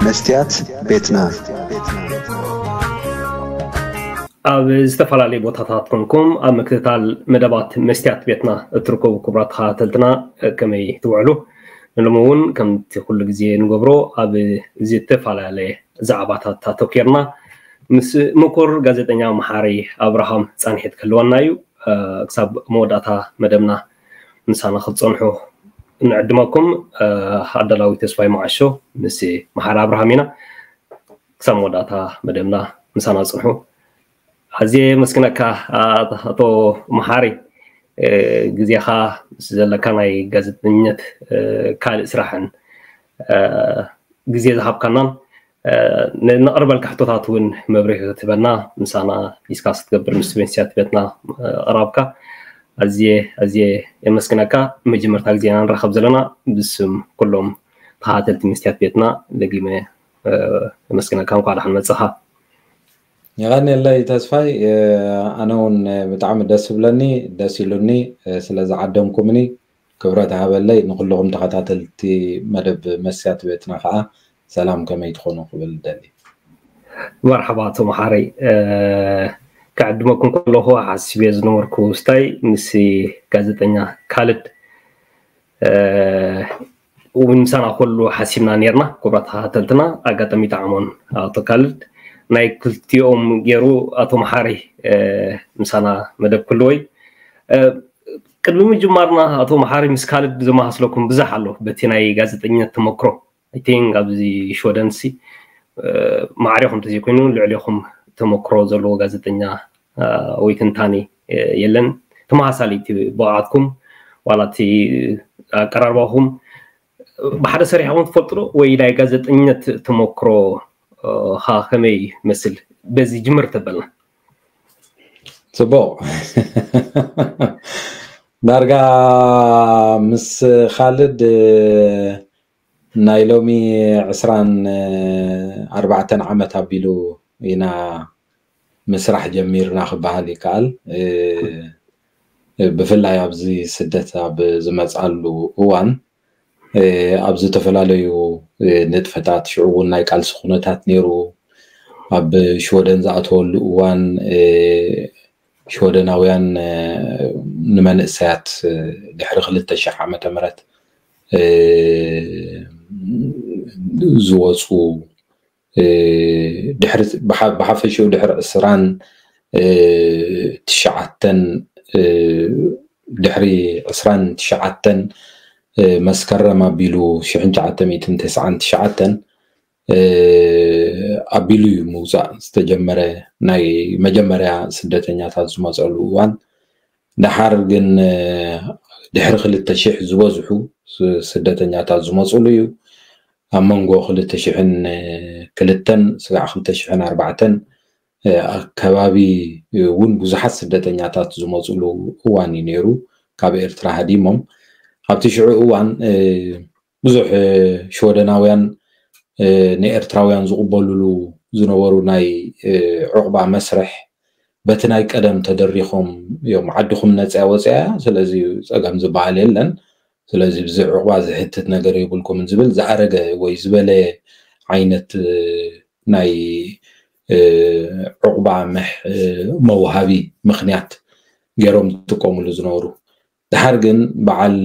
መስትያት ቤትና። ኣብ ዝተፈላለዩ ቦታታት ኮንኩም ኣብ ምክትታል መደባት መስትያት ቤትና እትርከቡ ክቡራት ተኸታተልትና፣ ከመይ ትውዕሉ? ንሎሚ እውን ከምቲ ኩሉ ግዜ ንገብሮ ኣብ ዝተፈላለየ ዛዕባታት ኣተኮርና ምስ ምኩር ጋዜጠኛ መሓሪ ኣብርሃም ፃንሒት ክህልወና እዩ። ክሳብ መወዳእታ መደብና ምሳና ክትፀንሑ ንዕድመኩም። ኣዳላዊ ተስፋይ መዓሾ ምስ መሓሪ ኣብርሃም ኢና። ክሳብ መወዳእታ መደብና ምሳና ፅንሑ። ኣዝየ የመስግነካ ኣቶ መሓሪ፣ ግዜኻ ምስ ዘለካ ናይ ጋዜጠኝነት ካልእ ስራሕን ግዜ ዝሃብካናን ነቕርበልካ ሕቶታት እውን መብርሂ ክትበና ምሳና ዲስካስ ክትገብር ምስ መስትያት ቤትና ቕራብካ ኣዝየ ኣዝየ የመስግነካ። መጀመርታ ግዜና ንራኸብ ዘለና ብስም ኩሎም ተኸታተልቲ መስትያት ቤትና ደጊመ የመስግነካ። እንኳዕ ደሓን መጻኻ። የቐንየለይ ተስፋይ። ኣነ እውን ብጣዕሚ ደስ ብለኒ፣ ደስ ኢሉኒ ስለ ዝዓደምኩምኒ። ክብረት ሃበለይ። ንኩልኹም ተኸታተልቲ መደብ መስትያት ቤትና ከዓ ሰላም፣ ከመይ ትኾኑ ክብል ደሊ። መርሓባ ኣቶ መሓረይ፣ ክዕድመኩም ከለኹ ሓሲበ ዝነበርኩ ስታይ ምስ ጋዜጠኛ ካልድ እውን ምሳና ኩሉ ሓሲብና ነርና። ክቡራት ተኸታተልትና ኣጋጣሚ ጣዕሞን ኣቶ ካልድ ናይ ክልቲኦም ገይሩ ኣቶ መሓሪ ምሳና መደብ ክልወይ። ቅድሚ ምጅማርና ኣቶ መሓሪ ምስ ካልድ ዘመሳስለኩም ብዙሕ ኣሎ በቲ ናይ ጋዜጠኝነት ተመክሮ። I think ኣብዚ ሽወደን ሲ ማዕሬኹም ተዘይኮይኑ ልዕሌኹም ተመክሮ ዘለዎ ጋዜጠኛ ወይ ትንታኔ የለን። ተመሳሳሊ እቲ ብቕዓትኩም ዋላ እቲ ኣቀራርባኹም ብሓደ ሰሪሕኹም ትፈልጡ ዶ ወይ ናይ ጋዜጠኝነት ተመክሮ ኻ ከመይ መስል በዚ ጅምር ተበልና? ጽቡቕ። ዳርጋ ምስ ካልድ ናይ ሎሚ ዕስራን ኣርባዕተን ዓመት ኣቢሉ ኢና ምስራሕ ጀሚርና ክበሃል ይከኣል። ብፍላይ ኣብዚ ስደት ኣብ ዝመፅኣሉ እዋን ኣብ ዝተፈላለዩ ንጥፈታት ሽዑ እውን ናይ ቃልሲ ኩነታት ነይሩ። ኣብ ሽወደን ዝኣተወሉ እዋን ሽወደናውያን ንመንእሰያት ድሕሪ ክልተ ሽሕ ዓመተ ምህረት ዝወፁ ድሕሪ ብሓፈሽኡ ድሕሪ ዕስራን ትሽዓተን ድሕሪ ዕስራን ትሽዓተን መስከረም ኣቢሉ ሽሕን ትሽዓተ ሚእትን ተስዓን ትሽዓተን ኣቢሉ እዩ ምውፃእ ዝተጀመረ ናይ መጀመርያ ስደተኛታት ዝመፀሉ እዋን። ደሓር ግን ድሕሪ ክልተ ሽሕ ዝበዝሑ ስደተኛታት ዝመፅሉ እዩ። ኣብ መንጎ ክልተ ሽሕን ክልተን ስጋዕ ክልተ ሽሕን ኣርባዕተን ኣከባቢ እውን ብዙሓት ስደተኛታት ዝመፅሉ እዋን እዩ ነይሩ። ካብ ኤርትራ ሃዲሞም ኣብቲ ሽዑ እዋን ብዙሕ ሽወደናውያን ንኤርትራውያን ዝቕበሉሉ ዝነበሩ ናይ ዑቕባ መስርሕ በቲ ናይ ቀደም ተደሪኾም እዮም። ዓድኹም ነፅያ ወፅያ፣ ስለዚ ፀገም ዝበሃል የለን። ስለዚ ብዚ ዑቕባ ዝሕትት ነገር የብልኩምን ዝብል ዝኣረገ ወይ ዝበለ ዓይነት ናይ ዑቕባ መውሃቢ ምኽንያት ገይሮም ዝጥቀምሉ ዝነበሩ። ድሓር ግን በዓል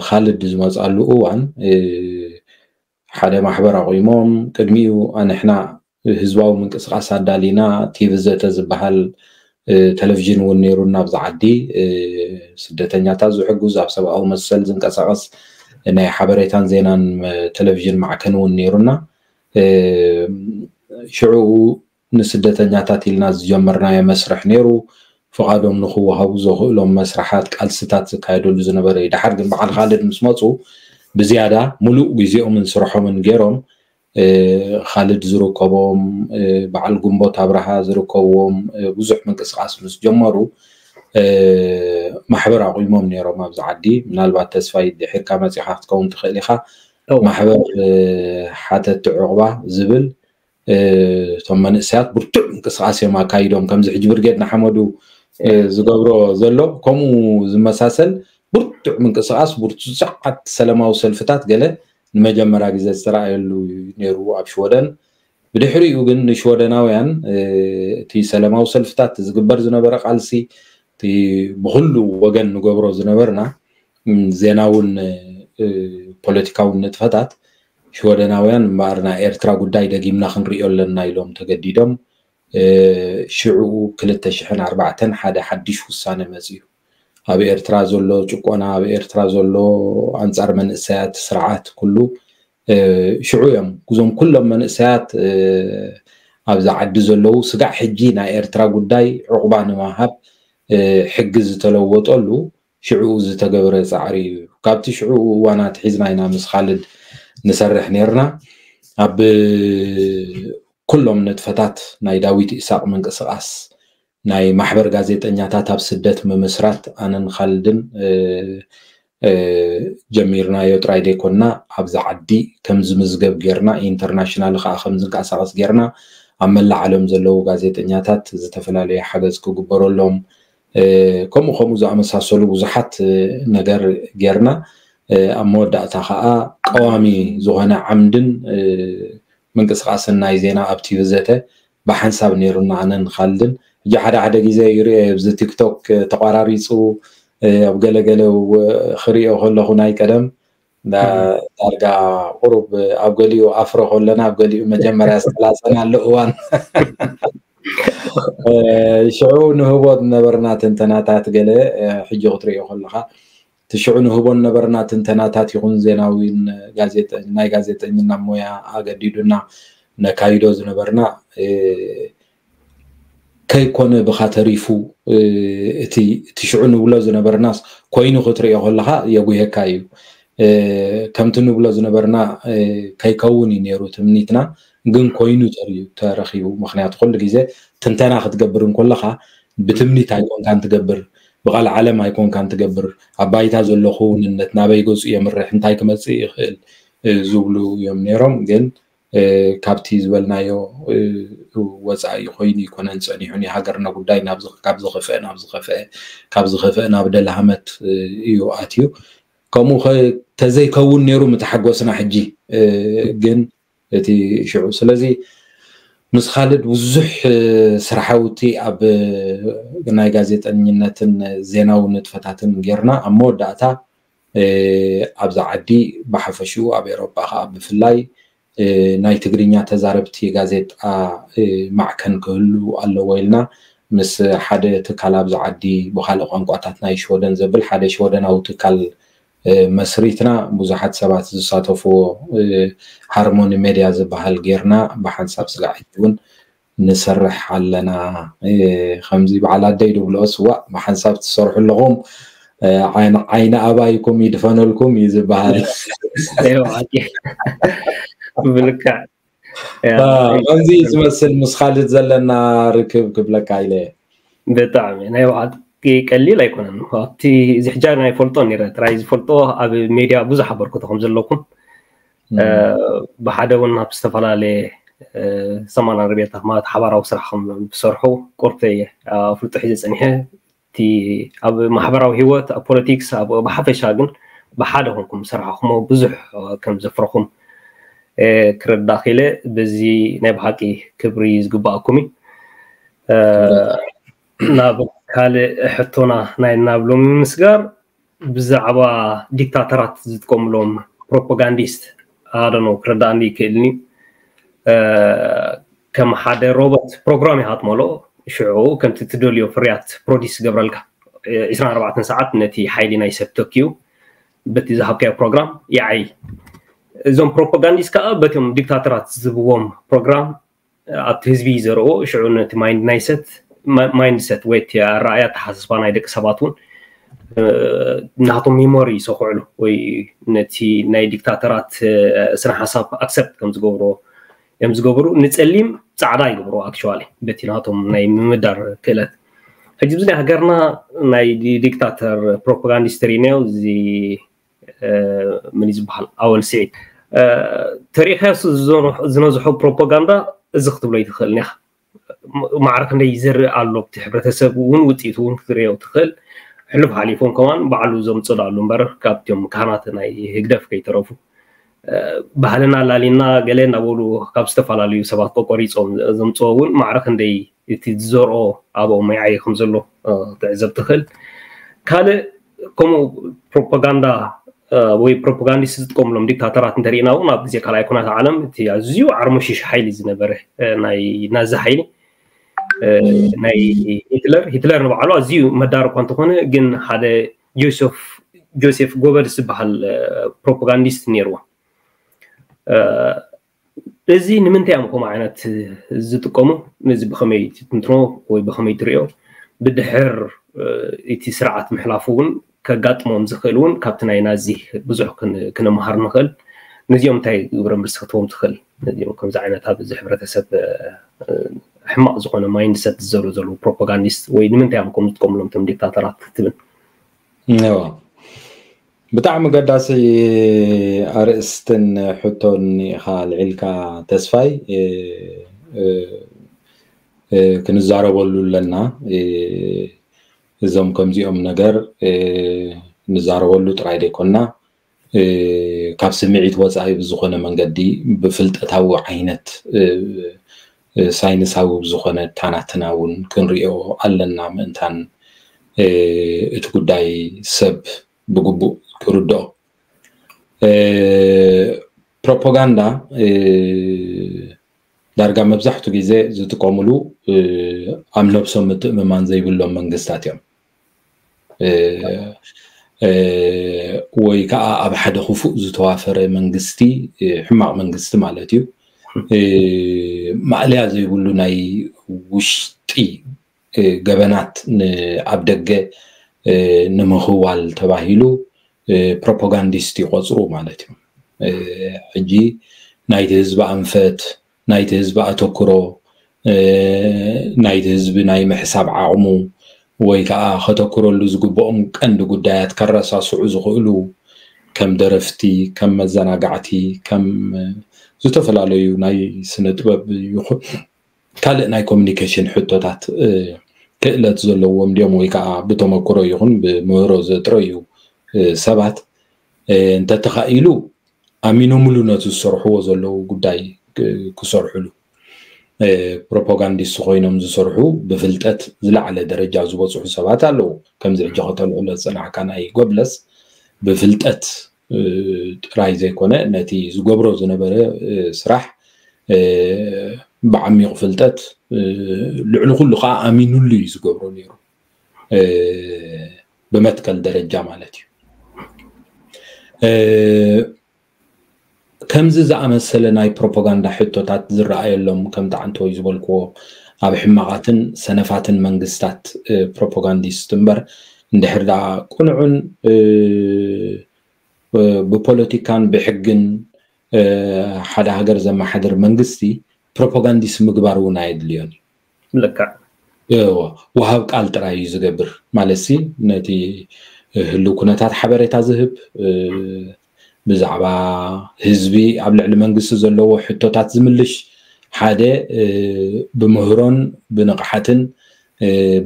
ካልድ ዝመፅኣሉ እዋን ሓደ ማሕበር ኣቑሞም ቅድሚኡ ኣንሕና ህዝባዊ ምንቅስቃስ ኣዳሊና ቲቪ ዘተ ዝበሃል ቴሌቪዥን እውን ነይሩና ኣብዚ ዓዲ። ስደተኛታት ዝሕግዝ ኣብ ሰብኣዊ መሰል ዝንቀሳቀስ ናይ ሓበሬታን ዜናን ቴሌቪዥን ማዕከን እውን ነይሩና። ሽዑኡ ንስደተኛታት ኢልና ዝጀመርናዮ መስርሕ ነይሩ። ፍቓዶም ንክወሃቡ ዘኽእሎም መስርሓት ቃልስታት ዝካየደሉ ዝነበረ እዩ። ድሓር ግን በዓል ካልድ ምስ መፁ ብዝያዳ ሙሉእ ግዜኦምን ስርሖምን ገይሮም ካልድ ዝርከቦም በዓል ጉንቦት ኣብርሃ ዝርከብዎም ብዙሕ ምንቅስቃስ ምስ ጀመሩ ማሕበር ኣቑሞም ነይሮም ኣብዚ ዓዲ። ምናልባት ተስፋይ ድሒርካ መፂኻ ክትከውን ትኽእል ኢኻ። ማሕበር ሓተቲ ዑቕባ ዝብል እቶም መንእሰያት ብርቱዕ ምንቅስቃስ እዮም ኣካይዶም። ከምዚ ሕጂ ብርጌድ ንሓመዱ ዝገብሮ ዘሎ ከምኡ ዝመሳሰል ብርቱዕ ምንቅስቃስ፣ ብርቱዓት ሰላማዊ ሰልፍታት ገለ ንመጀመርያ ግዜ ዝተረኣየሉ እዩ ነይሩ ኣብ ሽወደን። ብድሕሪኡ ግን ንሽወደናውያን እቲ ሰላማዊ ሰልፍታት፣ ዝግበር ዝነበረ ቃልሲ፣ እቲ ብኩሉ ወገን ንገብሮ ዝነበርና ዜናውን ፖለቲካውን ንጥፈታት፣ ሽወደናውያን እምበኣር ናይ ኤርትራ ጉዳይ ደጊምና ክንሪኦ ኣለና ኢሎም ተገዲዶም። ሽዑ ክልተ ሽሕን ኣርባዕተን ሓደ ሓድሽ ውሳነ መፅዩ። ኣብ ኤርትራ ዘሎ ጭቆና፣ ኣብ ኤርትራ ዘሎ ኣንጻር መንእሰያት ስርዓት ኩሉ ሽዑ እዮም። እዞም ኩሎም መንእሰያት ኣብዚ ዓዲ ዘለዉ ስጋዕ ሕጂ ናይ ኤርትራ ጉዳይ ዕቑባ ንምሃብ ሕጊ ዝተለወጠሉ ሽዑ ዝተገብረ ጻዕሪ እዩ። ካብቲ ሽዑ እዋናት ሒዝና ኢና ምስ ካልድ ንሰርሕ ነርና። ኣብ ኩሎም ንጥፈታት ናይ ዳዊት ኢሳቕ ምንቅስቓስ፣ ናይ ማሕበር ጋዜጠኛታት ኣብ ስደት ምምስራት ኣነን ካልድን ጀሚርናዮ ጥራይ ዘይኮንና፣ ኣብዚ ዓዲ ከም ዝምዝገብ ጌርና፣ ኢንተርናሽናል ከዓ ከም ዝንቀሳቐስ ጌርና፣ ኣብ መላእ ዓለም ዘለዉ ጋዜጠኛታት ዝተፈላለየ ሓገዝ ክግበረሎም፣ ከምኡ ከምኡ ዝኣመሳሰሉ ብዙሓት ነገር ጌርና። ኣብ መወዳእታ ከዓ ቀዋሚ ዝኾነ ዓምድን ምንቅስቃስን ናይ ዜና ኣብ ቲቪ ዘተ ብሓንሳብ ነይሩና፣ ኣነን ካልድን። ሕጂ ሓደ ሓደ ግዜ ይሪኦ ኣብዚ ቲክቶክ ተቋራሪፁ ኣብ ገለገለ ክሪኦ ከለኹ ናይ ቀደም ዳርጋ ቁሩብ ኣብ ገሊኡ ኣፍሮ ከለና ኣብ ገሊኡ መጀመርያ ዝተላፀናሉ እዋን ሽዑ ንህቦ ዝነበርና ትንተናታት ገለ ሕጂ ክትሪኦ ከለካ እቲ ሽዑ ንህቦ ዝነበርና ትንተናታት ይኹን ዜናዊን ናይ ጋዜጠኝና ሞያ ኣገዲዱና ነካይዶ ዝነበርና ከይኮነ ብኻ ተሪፉ እቲ ሽዑ ንብሎ ዝነበርናስ ኮይኑ ክትሪኦ ከለካ የጉሄካ እዩ። ከምቲ ንብሎ ዝነበርና ከይከውን እዩ ነይሩ ትምኒትና፣ ግን ኮይኑ ተሪዩ ተረኺቡ። ምክንያቱ ኩሉ ግዜ ትንተና ክትገብር እንከለካ ብትምኒት ኣይኮንካን ትገብር፣ ብቃል ዓለም ኣይኮንካን ትገብር፣ ኣብ ባይታ ዘሎ ክውንነት ናበይ ገፁ የምርሕ፣ እንታይ ክመፅእ ይኽእል ዝብሉ እዮም ነይሮም። ግን ካብቲ ዝበልናዮ ወፃኢ ኮይኑ ይኮነን ፀኒሑ፣ ናይ ሃገርና ጉዳይ ካብ ዝኸፍአ ናብ ዝኸፍአ፣ ካብ ዝኸፍአ ናብ ደልሃመት እዩ ኣትዩ። ከምኡ ተዘይከውን ነይሩ ምተሓጎስና ሕጂ ግን እቲ ሽዑ። ስለዚ ምስ ካልድ ብዙሕ ስራሓውቲ ኣብ ናይ ጋዜጠኝነትን ዜናዊ ንጥፈታትን ጌርና ኣብ መወዳእታ ኣብዚ ዓዲ ብሓፈሽኡ ኣብ ኤሮጳ ከዓ ብፍላይ ናይ ትግርኛ ተዛረብቲ ጋዜጣ ማዕከን ክህሉ ኣለዎ ኢልና ምስ ሓደ ትካል ኣብዚ ዓዲ ብካልእ ቋንቋታት ናይ ሽወደን ዘብል ሓደ ሽወደናዊ ትካል መስሪትና ብዙሓት ሰባት ዝሳተፍዎ ሃርሞኒ ሜድያ ዝበሃል ጌርና ብሓንሳብ ስጋዕ ሕጂ እውን ንሰርሕ ኣለና። ከምዚ በዓል ኣደይ ድብልኦ ስዋእ ብሓንሳብ ትሰርሑ ኣለኹም ዓይኒ ኣባይኩም ይድፈነልኩም እዩ ዝበሃል። ብልክዕ ከምዚ ዝመስል ምስ ካልድ ዘለና ርክብ ክብለካ ኢለ። ብጣዕሚ ናይ ብሓቂ ቀሊል ኣይኮነን። ኣብቲ እዚ ሕጃ ናይ ፈልጦ ነይረ ጥራይ ዝፈልጦ ኣብ ሜድያ ብዙሕ ኣበርክቶ ከም ዘለኩም ብሓደ እውን ኣብ ዝተፈላለየ ሰማና ርቤታ ማለት ሓባራዊ ስራሕ ከም ትሰርሑ ቁርተ እየ ኣፍልጦ ሒዘ ፀኒሐ። እቲ ኣብ ማሕበራዊ ህይወት ኣብ ፖለቲክስ ብሓፈሻ ግን ብሓደ ኮንኩም ዝሰራሕኹሞ ብዙሕ ከም ዘፍረኹም ክርዳእ ክኢለ። በዚ ናይ ብሓቂ ክብሪ ዝግባኣኩም እዩ። ናብ ካልእ ሕቶና ናይ ናብ ሎሚ ምስጋር ብዛዕባ ዲክታተራት ዝጥቀምሎም ፕሮፓጋንዲስት ኣደኖ ክርዳእኒ ይክእልኒ። ከም ሓደ ሮቦት ፕሮግራም ይሃጥመሎ ሽዑ ከምቲ ትደልዮ ፍርያት ፕሮዲስ ዝገብረልካ ዕስራን ኣርባዕተን ሰዓት ነቲ ሓይሊ ናይ ሰብ ተኪኡ በቲ ዝሃብካዮ ፕሮግራም ይዓይ። እዞም ፕሮፓጋንዲስት ከዓ በቶም ዲክታተራት ዝህብዎም ፕሮግራም ኣብቲ ህዝቢ ዘርኦ ሽዑ ነቲ ማይንድ ናይ ሰት ማይንድሰት ወይ እቲ ኣረኣያ ኣተሓሳስባ ናይ ደቂ ሰባት እውን ናቶም ሚሞሪ ይሰኩዕሉ ወይ ነቲ ናይ ዲክታተራት ስነ ሓሳብ ኣክሰፕት ከም ዝገብርዎ እዮም ዝገብሩ። ንፀሊም ፃዕዳ ይገብርዎ ኣክቹዋሊ በቲ ናቶም ናይ ምምዳር ክእለት። ሕጂ ብዚ ናይ ሃገርና ናይ ዲክታተር ፕሮፓጋንዲስት ሪነዮ እዚ ምን ዝበሃል ኣወል ስዒድ ተሪኢኻዮ ዝነዝሖ ፕሮፓጋንዳ እዚ ክትብሎ ይትኽእል ኒኻ። ማዕረ ክንደይ ይዘርእ ኣሎ ኣብቲ ሕብረተሰብ እውን ውፅኢቱ እውን ክትሪኦ ትኽእል። ሕሉፍ ሓሊፎም ከማን ባዕሉ ዘምፅሉ ኣሉ እምበር ካብቶም ካህናት ናይ ህግደፍ ከይተረፉ ባህልና ኣላሊና ገለ እናበሉ ካብ ዝተፈላለዩ ሰባት ቆቆሪፆም ዘምፅኦ እውን ማዕረ ክንደይ እቲ ዝዘርኦ ኣብኦም ይዓየ ከም ዘሎ ትዕዘብ ትኽእል። ካልእ ከምኡ ፕሮፓጋንዳ ወይ ፕሮፓጋንዲስት ዝጥቀምሎም ዲክታተራት እንተሪእና እውን ኣብ ግዜ ካልኣይ ኩናት ዓለም እቲ ኣዝዩ ዓርሞሽሽ ሓይሊ ዝነበረ ናይ ናዚ ሓይሊ ናይ ሂትለር ሂትለር ንባዕሉ ኣዝዩ መዳር እኳ እንተኾነ ግን ሓደ ጆሴፍ ጆሴፍ ጎበልስ ዝበሃል ፕሮፓጋንዲስት ነይርዎ። እዚ ንምንታይ እዮም ከምኡ ዓይነት ዝጥቀሙ? ነዚ ብኸመይ ትትንትኖ ወይ ብኸመይ ትሪኦ? ብድሕር እቲ ስርዓት ምሕላፉ እውን ከጋጥሞም ዝኽእል እውን ካብቲ ናይ ናዚ ብዙሕ ክንመሃር ንኽእል። ነዚኦም እንታይ ግብረ መልሲ ክትቦም ትኽእል? ነዚኦም ከምዚ ዓይነት ኣብ እዚ ሕብረተሰብ ሕማቕ ዝኾነ ማይንድሰት ዝዘሩ ዘለዉ ፕሮፓጋንዲስት ወይ ንምንታይ እዮም ከምኡ ዝጥቀምሎም እቶም ዲክታተራት ክትብል? ብጣዕሚ ገዳሲ ኣርእስትን ሕቶን ኢኻ ኣልዒልካ ተስፋይ። ክንዛረበሉ ኣለና። እዞም ከምዚኦም ነገር ንዛረበሉ ጥራይ ዘይኮና ካብ ስምዒት ወፃኢ ብዝኾነ መንገዲ ብፍልጠታዊ ዓይነት ሳይንሳዊ ብዝኾነ ታናትና እውን ክንሪኦ ኣለና ምእንታን እቲ ጉዳይ ሰብ ብግቡእ ክርድኦ። ፕሮፓጋንዳ ዳርጋ መብዛሕቱ ግዜ ዝጥቀምሉ ኣብ ነብሶም ምትእምማን ዘይብሎም መንግስታት እዮም። ወይ ከዓ ኣብ ሓደ ክፉእ ዝተዋፈረ መንግስቲ፣ ሕማቕ መንግስቲ ማለት እዩ፣ ማእለያ ዘይብሉ ናይ ውሽጢ ገበናት ኣብ ደገ ንምኽዋል ተባሂሉ ፕሮፓጋንዲስት ይቆፅሩ ማለት እዩ። ሕጂ ናይቲ ህዝቢ ኣንፈት፣ ናይቲ ህዝቢ ኣተኩሮ፣ ናይቲ ህዝቢ ናይ ምሕሳብ ዓቕሙ ወይ ከዓ ከተኩረሉ ዝግብኦም ቀንዲ ጉዳያት ከረሳስዑ ዝኽእሉ ከም ደረፍቲ፣ ከም መዘናጋዕቲ፣ ከም ዝተፈላለዩ ናይ ስነ ጥበብ ይኹን ካልእ ናይ ኮሚኒኬሽን ሕቶታት ክእለት ዘለዎም ድዮም ወይ ከዓ ብተመክሮ ይኹን ብምህሮ ዘጥረዩ ሰባት እንተተኻኢሉ ኣሚኖምሉ ነቲ ዝሰርሕዎ ዘለዉ ጉዳይ ክሰርሕሉ ፕሮፓጋንዲስት ኮይኖም ዝሰርሑ ብፍልጠት ዝለዓለ ደረጃ ዝበፅሑ ሰባት ኣለዉ። ከምዚ ሕጂ ከተልዕሎ ዝፀናሕካ ናይ ጎብለስ ብፍልጠት ጥራይ ዘይኮነ ነቲ ዝገብሮ ዝነበረ ስራሕ ብዓሚቕ ፍልጠት ልዕሊ ኩሉ ከዓ ኣሚኑሉ እዩ ዝገብሮ ነይሩ፣ ብመትከል ደረጃ ማለት እዩ። ከምዚ ዝኣመሰለ ናይ ፕሮፓጋንዳ ሕቶታት ዝረኣየሎም ከም ተዓንተወይ ዝበልክዎ ኣብ ሕማቓትን ሰነፋትን መንግስታት ፕሮፓጋንዲስት እምበር እንድሕር ደኣ ቅኑዕን ብፖለቲካን ብሕግን ሓደ ሃገር ዘመሓድር መንግስቲ ፕሮፓጋንዲስት ምግባር እውን ኣየድልዮን እዩ። ልክዕ። ወሃብ ቃል ጥራይ እዩ ዝገብር ማለት ሲ ነቲ ህልው ኩነታት ሓበሬታ ዝህብ ብዛዕባ ህዝቢ ኣብ ልዕሊ መንግስቲ ዘለዎ ሕቶታት ዝምልሽ ሓደ ብምህሮን ብንቕሓትን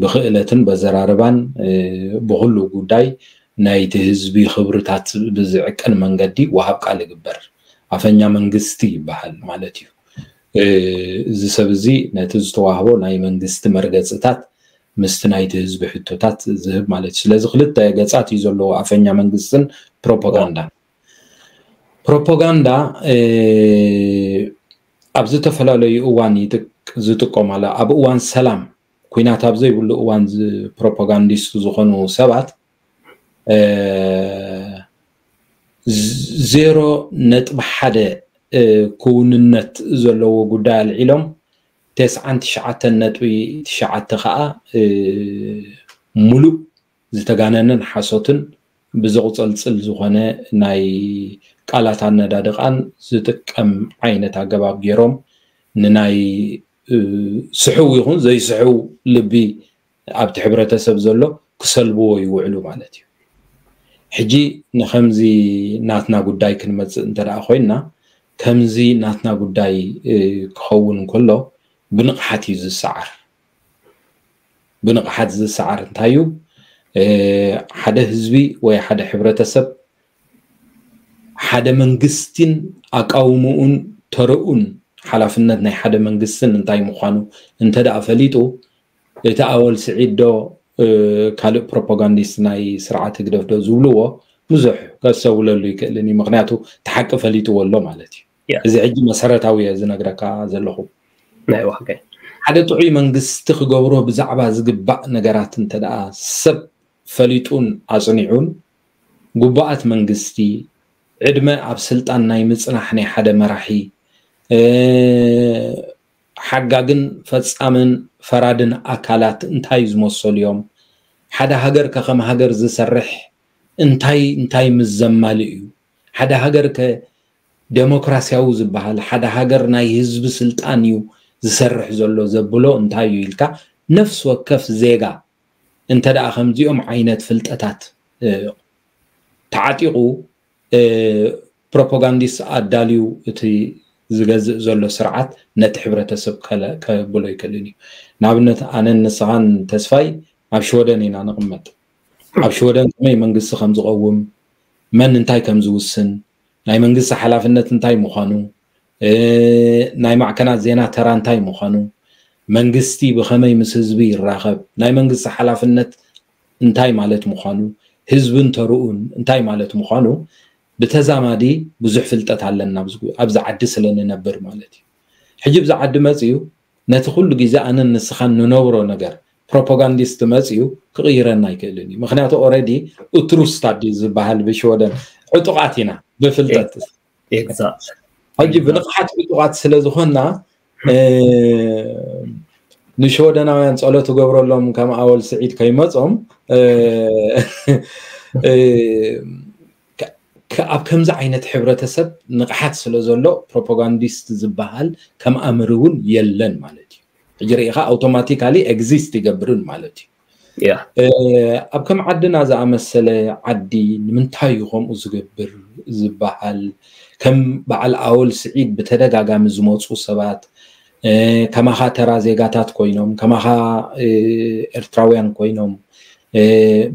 ብክእለትን በዘራርባን ብኩሉ ጉዳይ ናይቲ ህዝቢ ክብርታት ብዝዕቅን መንገዲ ወሃብ ቃል ይግበር። ኣፈኛ መንግስቲ ይበሃል ማለት እዩ። እዚ ሰብ እዚ ነቲ ዝተዋህቦ ናይ መንግስቲ መርገፅታት ምስቲ ናይቲ ህዝቢ ሕቶታት ዝህብ ማለት እዩ። ስለዚ ክልተ ገፃት እዩ ዘለዎ ኣፈኛ መንግስትን ፕሮፓጋንዳን። ፕሮፓጋንዳ ኣብ ዝተፈላለዩ እዋን ዝጥቀማላ ኣብ እዋን ሰላም ኩናት ኣብ ዘይብሉ እዋን ፕሮፓጋንዲስት ዝኾኑ ሰባት ዜሮ ነጥቢ ሓደ ክውንነት ዘለዎ ጉዳይ ኣልዒሎም ተስዓን ትሽዓተን ነጥቢ ትሽዓተ ከዓ ሙሉእ ዝተጋነነን ሓሶትን ብዘቑፀልፅል ዝኾነ ናይ ቃላት ኣነዳድቓን ዝጥቀም ዓይነት ኣገባብ ገይሮም ንናይ ስሕው ይኹን ዘይስሕው ልቢ ኣብቲ ሕብረተሰብ ዘሎ ክሰልብዎ ይውዕሉ ማለት እዩ። ሕጂ ንከምዚ ናትና ጉዳይ ክንመፅእ እንተ ደኣ ኮይንና ከምዚ ናትና ጉዳይ ክኸውን እንከሎ ብንቕሓት እዩ ዝሰዓር። ብንቕሓት ዝሰዓር እንታይ እዩ? ሓደ ህዝቢ ወይ ሓደ ሕብረተሰብ ሓደ መንግስቲን ኣቃውምኡን ተረኡን ሓላፍነት ናይ ሓደ መንግስትን እንታይ ምዃኑ እንተ ደኣ ፈሊጡ፣ እቲ ኣወል ስዒድ ዶ ካልእ ፕሮፓጋንዲስት ናይ ስርዓት ህግደፍ ዶ ዝብልዎ ብዙሕ ከስተውለሉ ይክእልን እዩ። ምክንያቱ እቲ ሓቂ ፈሊጥዎ ኣሎ ማለት እዩ። እዚ ሕጂ መሰረታዊ እየ ዝነግረካ ዘለኹ። ሓደ ጥዑይ መንግስቲ ክገብሮ ብዛዕባ ዝግባእ ነገራት እንተ ደኣ ሰብ ፈሊጡን ኣጽኒዑን፣ ግቡኣት መንግስቲ፣ ዕድመ ኣብ ስልጣን ናይ ምጽናሕ ናይ ሓደ መራሒ፣ ሓጋግን ፈጻምን ፈራድን ኣካላት እንታይ ዝመሰሉ እዮም? ሓደ ሃገር ከ ከም ሃገር ዝሰርሕ እንታይ እንታይ ምስ ዘማልእ እዩ? ሓደ ሃገር ከ ደሞክራሲያዊ ዝበሃል፣ ሓደ ሃገር ናይ ህዝቢ ስልጣን እዩ ዝሰርሕ ዘሎ ዘብሎ እንታይ እዩ ኢልካ ነፍሲ ወከፍ ዜጋ እንተ ደኣ ከምዚኦም ዓይነት ፍልጠታት ተዓጢቑ ፕሮፓጋንዲስት ኣዳልዩ እቲ ዝገዝእ ዘሎ ስርዓት ነቲ ሕብረተሰብ ከብሎ ይክእልን እዩ። ንኣብነት ኣነን ንስኻን ተስፋይ ኣብ ሽወደን ኢና ንቕመጥ። ኣብ ሽወደን ከመይ መንግስቲ ከም ዝቐውም፣ መን እንታይ ከም ዝውስን፣ ናይ መንግስቲ ሓላፍነት እንታይ ምዃኑ፣ ናይ ማዕከናት ዜና ተራ እንታይ ምዃኑ፣ መንግስቲ ብኸመይ ምስ ህዝቢ ይራኸብ፣ ናይ መንግስቲ ሓላፍነት እንታይ ማለት ምዃኑ፣ ህዝብን ተርኡን እንታይ ማለት ምዃኑ ብተዛማዲ ብዙሕ ፍልጠት ኣለና ኣብዚ ዓዲ ስለ ንነብር ማለት እዩ። ሕጂ ብዚ ዓዲ መፅዩ ነቲ ኩሉ ግዜ ኣነን ንስኻን ንነብሮ ነገር ፕሮፓጋንዲስት መፅዩ ክቕይረና ኣይክእልን እዩ። ምክንያቱ ኦረዲ ኡትሩስታድ ዝበሃል ብሽወደን ዕጡቓት ኢና ብፍልጠት። ሕጂ ብንቕሓት ዕጡቓት ስለ ዝኾንና ንሽወደናውያን ጸሎት እገብረሎም ከም ኣወል ስዒድ ከይመጾም ኣብ ከምዚ ዓይነት ሕብረተሰብ ንቕሓት ስለ ዘሎ ፕሮፓጋንዲስት ዝበሃል ከም ኣምር እውን የለን ማለት እዩ። ሕጂ ርኢኻ ኣውቶማቲካሊ ኤግዚስት ይገብርን ማለት እዩ። ኣብ ከም ዓድና ዝኣመሰለ ዓዲ ንምንታይ እዩ ከምኡ ዝገብር ዝበሃል? ከም በዓል ኣወል ስዒድ ብተደጋጋሚ ዝመፁ ሰባት ከማኻ ተራ ዜጋታት ኮይኖም፣ ከማኻ ኤርትራውያን ኮይኖም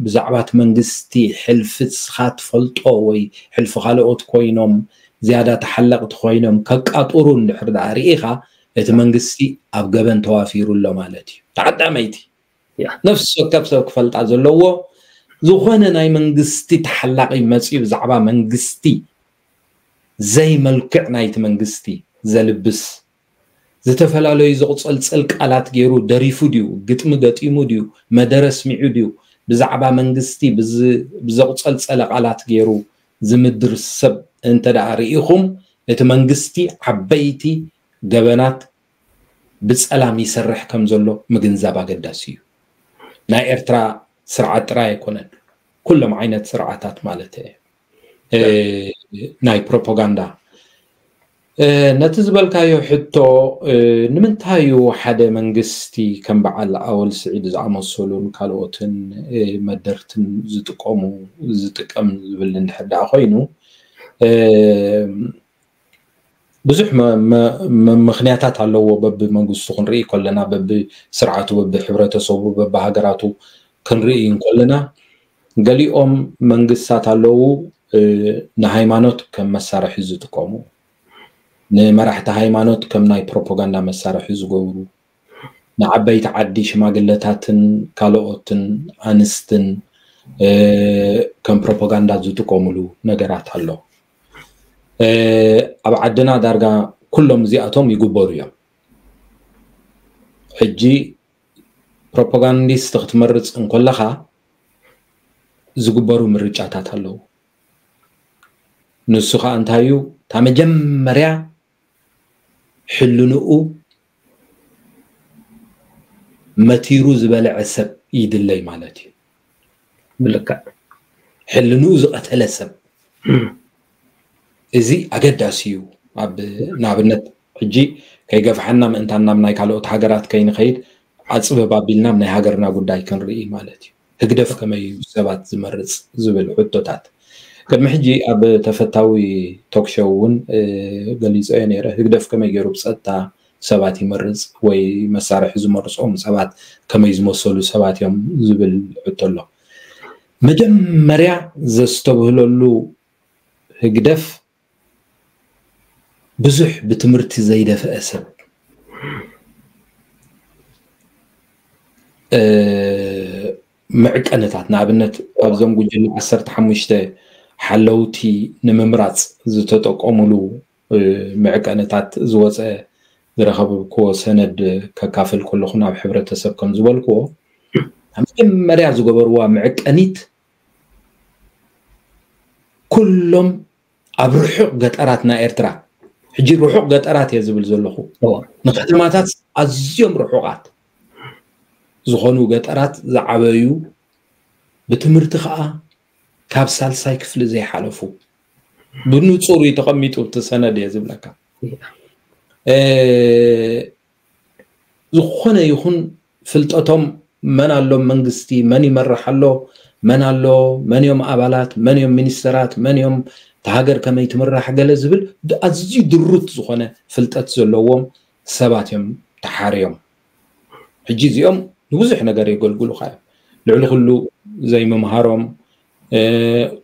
ብዛዕባ እቲ መንግስቲ ሕልፊ ንስኻ ትፈልጦ ወይ ሕልፊ ካልኦት ኮይኖም ዝያዳ ተሓለቕቲ ኮይኖም ከቃጥሩ እንድሕር ደኣ ርኢኻ እቲ መንግስቲ ኣብ ገበን ተዋፊሩ ኣሎ ማለት እዩ። ተዓዳመይቲ ነፍሲ ወከፍ ሰብ ክፈልጣ ዘለዎ ዝኾነ ናይ መንግስቲ ተሓላቒ መፅዩ ብዛዕባ መንግስቲ ዘይመልክዕ ናይቲ መንግስቲ ዘልብስ ዝተፈላለዩ ዘቑፀልፀል ቃላት ገይሩ ደሪፉ ድዩ፣ ግጥሚ ገጢሙ ድዩ፣ መደረ ኣስሚዑ ድዩ፣ ብዛዕባ መንግስቲ ብዘቑፀልፀለ ቃላት ገይሩ ዝምድር ሰብ እንተ ደኣ ርኢኹም እቲ መንግስቲ ዓበይቲ ገበናት ብፀላም ይሰርሕ ከም ዘሎ ምግንዛብ ኣገዳሲ እዩ። ናይ ኤርትራ ስርዓት ጥራይ ኣይኮነን፣ ኩሎም ዓይነት ስርዓታት ማለት ናይ ፕሮፓጋንዳ። ነቲ ዝበልካዮ ሕቶ ንምንታይ እዩ ሓደ መንግስቲ ከም በዓል ኣወል ስዒድ ዝኣመሰሉን ካልኦትን መደርትን ዝጥቀሙ ዝጥቀም ዝብል እንድሕር ደኣ ኮይኑ ብዙሕ ምኽንያታት ኣለዎ። በቢ መንግስቱ ክንርኢ ከለና በቢ ስርዓቱ በቢ ሕብረተሰቡ በቢ ሃገራቱ ክንርኢ እንከለና ገሊኦም መንግስታት ኣለዉ ንሃይማኖት ከም መሳርሒ ዝጥቀሙ፣ ንመራሕቲ ሃይማኖት ከም ናይ ፕሮፓጋንዳ መሳርሒ ዝገብሩ፣ ንዓበይቲ ዓዲ ሽማግለታትን ካልኦትን ኣንስትን ከም ፕሮፓጋንዳ ዝጥቀምሉ ነገራት ኣሎ። ኣብ ዓድና ዳርጋ ኩሎም እዚኣቶም ይግበሩ እዮም። ሕጂ ፕሮፓጋንዲስት ክትመርፅ እንከለኻ ዝግበሩ ምርጫታት ኣለዉ። ንሱ ከዓ እንታይ እዩ? እታ መጀመርያ ሕልንኡ መቲሩ ዝበልዐ ሰብ ይድለይ ማለት እዩ። ብልክዕ ሕልንኡ ዝቐተለ ሰብ እዚ ኣገዳሲ እዩ። ኣብ ንኣብነት ሕጂ ከይገፍሓና ምእንታን ናብ ናይ ካልኦት ሃገራት ከይንኸይድ ኣፅብብ ኣቢልና ናይ ሃገርና ጉዳይ ክንርኢ ማለት እዩ። ህግደፍ ከመይ እዩ ሰባት ዝመርፅ ዝብል ሕቶታት ቅድሚ ሕጂ ኣብ ተፈታዊ ቶክሾው እውን ገሊፀዮ ነይረ። ህግደፍ ከመይ ገይሩ ብፀጥታ ሰባት ይመርፅ ወይ መሳርሒ ዝመርፆም ሰባት ከመይ ዝመሰሉ ሰባት እዮም ዝብል ሕቶ ኣሎ። መጀመርያ ዘስተብህለሉ ህግደፍ ብዙሕ ብትምህርቲ ዘይደፍአ ሰብ፣ እ፣ ምዕቀንታት፣ ንኣብነት፣ ኣብዞም ጉጅለ ዓሰርተ ሓሙሽተ ሓለውቲ ንምምራፅ ዝተጠቀሙሉ፣ እ፣ ምዕቀንታት ዝወፀ ዝረኸብክዎ ሰነድ ከካፍል ከለኹ፣ ናብ ሕብረተሰብ ከም ዝበልክዎ፣ ኣብ መጀመርያ ዝገበርዋ ምዕቀኒት፣ ኩሎም ኣብ ርሑቕ ገጠራት ናይ ኤርትራ፣ ሕጂ ርሑቕ ገጠራት እየ ዝብል ዘለኹ፣ እዋ። ንከተማታት ኣዝዮም ርሑቓት ዝኾኑ ገጠራት ዝዓበዩ፣ ብትምህርቲ ኸኣ ካብ ሳልሳይ ክፍሊ ዘይሓለፉ፣ ብንጹር እዩ ተቐሚጡ እቲ ሰነድ እየ ዝብለካ። እያ። እ፣ ዝኾነ ይኹን ፍልጠቶም፣ መን ኣሎ መንግስቲ፣ መን ይመርሕ ኣሎ፣ መን ኣሎ፣ መን እዮም ኣባላት፣ መን እዮም ሚኒስተራት፣ መን እዮም፣ እታ ሃገር ከመይ ትምራሕ፣ ገለ ዝብል ድ-፣ ኣዝዩ ድሩት ዝኾነ ፍልጠት ዘለዎም ሰባት እዮም ተሓርዮም። ሕጂ እዚኦም ንብዙሕ ነገር የገልግሉኻ እዮም። ልዕሊ ኩሉ ዘይምምሃሮም፣ እ፣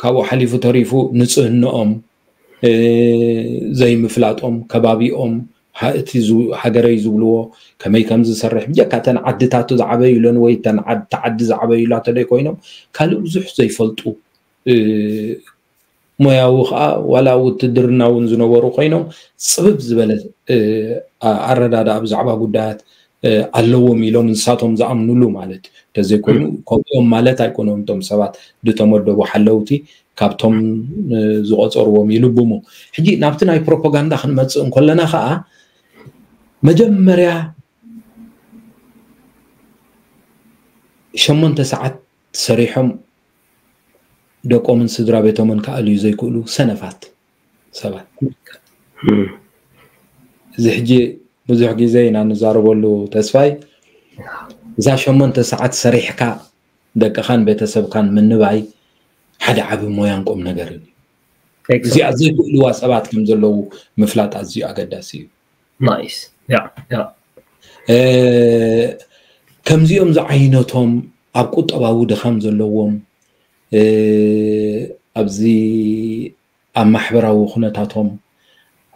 ካብኡ ሓሊፉ ተሪፉ ንጽህንኦም፣ እ፣ ዘይምፍላጦም፣ ከባቢኦም፣ ሃ-፣ እቲ ዝ-፣ ሃገረይ ዝብልዎ ከመይ ከም ዝሰርሕ፣ ብጀካ እተን ዓድታቱ ዝዓበዩለን ወይ እተን ዓድ-፣ እታ ዓዲ ዝዓበዩላቶ ደይ ኮይኖም፣ ካልእ ብዙሕ ዘይፈልጡ፣ እ፣ ሞያዊ ኸኣ ዋላ ውትድርና እውን ዝነበሩ ኮይኖም፣ ጽብብ ዝበለ፣ እ፣ ኣ-፣ ኣረዳድኣ ብዛዕባ ጉዳያት፣ እ፣ ኣለዎም ኢሎም ንሳቶም ዝኣምኑሉ ማለት እዩ። እንተዘይኮይኑ፣ ከምኡ እዮም ማለት ኣይኮነን። እቶም ሰባት ዝተመደቡ ሓለውቲ ካብቶም፣ እ፣ ዝቖጸርዎም ይልብሙ። ሕጂ ናብቲ ናይ ፕሮፓጋንዳ ክንመጽእ እንከለና ኸኣ፣ መጀመርያ ሸሞንተ ሰዓት ሰሪሖም ደቆምን ስድራ ቤቶምን ክኣልዩ ዘይክእሉ ሰነፋት ሰባት። እም። እዚ ሕጂ ብዙሕ ግዜ ኢና ንዛረበሉ፣ ተስፋይ። እዛ ሸሞንተ ሰዓት ሰሪሕካ ደቅኻን ቤተሰብካን ምንባይ ሓደ ዓቢ ሞያን ቁም ነገርን እዩ። ኤግዛክት። እዚኣ ዘይክእልዋ ሰባት ከም ዘለዉ ምፍላጥ ኣዝዩ ኣገዳሲ እዩ። ናይስ። ያ፣ ያ። እ፣ ከምዚኦም ዝዓይነቶም ኣብ ቁጠባዊ ድኻም ዘለዎም፣ እ፣ ኣብዚ ኣብ ማሕበራዊ ኩነታቶም፣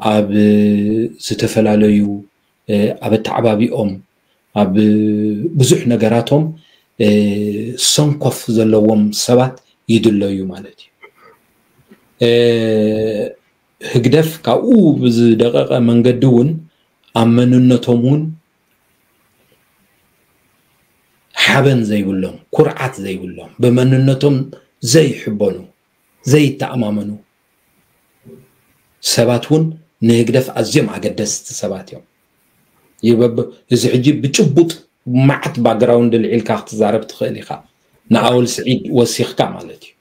ኣብ ዝተፈላለዩ፣ እ፣ ኣብ ኣተዓባቢኦም፣ ኣብ ብዙሕ ነገራቶም፣ እ፣ ሰንኮፍ ዘለዎም ሰባት ይድለዩ ማለት እዩ። እ፣ ህግደፍ ካብኡ ብዝደቀቀ መንገዲ እውን ኣብ መንነቶም እውን ሓበን ዘይብሎም፣ ኩርዓት ዘይብሎም፣ ብመንነቶም ዘይሕበኑ፣ ዘይተኣማመኑ ሰባት እውን ንህግደፍ ኣዝዮም ኣገደስቲ ሰባት እዮም። ይበብ-፣ እዚ ሕጂ ብጭቡጥ መዓት ባክግራውንድ ልዒልካ ክትዛረብ ትኽእል ኢኻ። ንኣወል ስዒድ ወሲኽካ ማለት እዩ።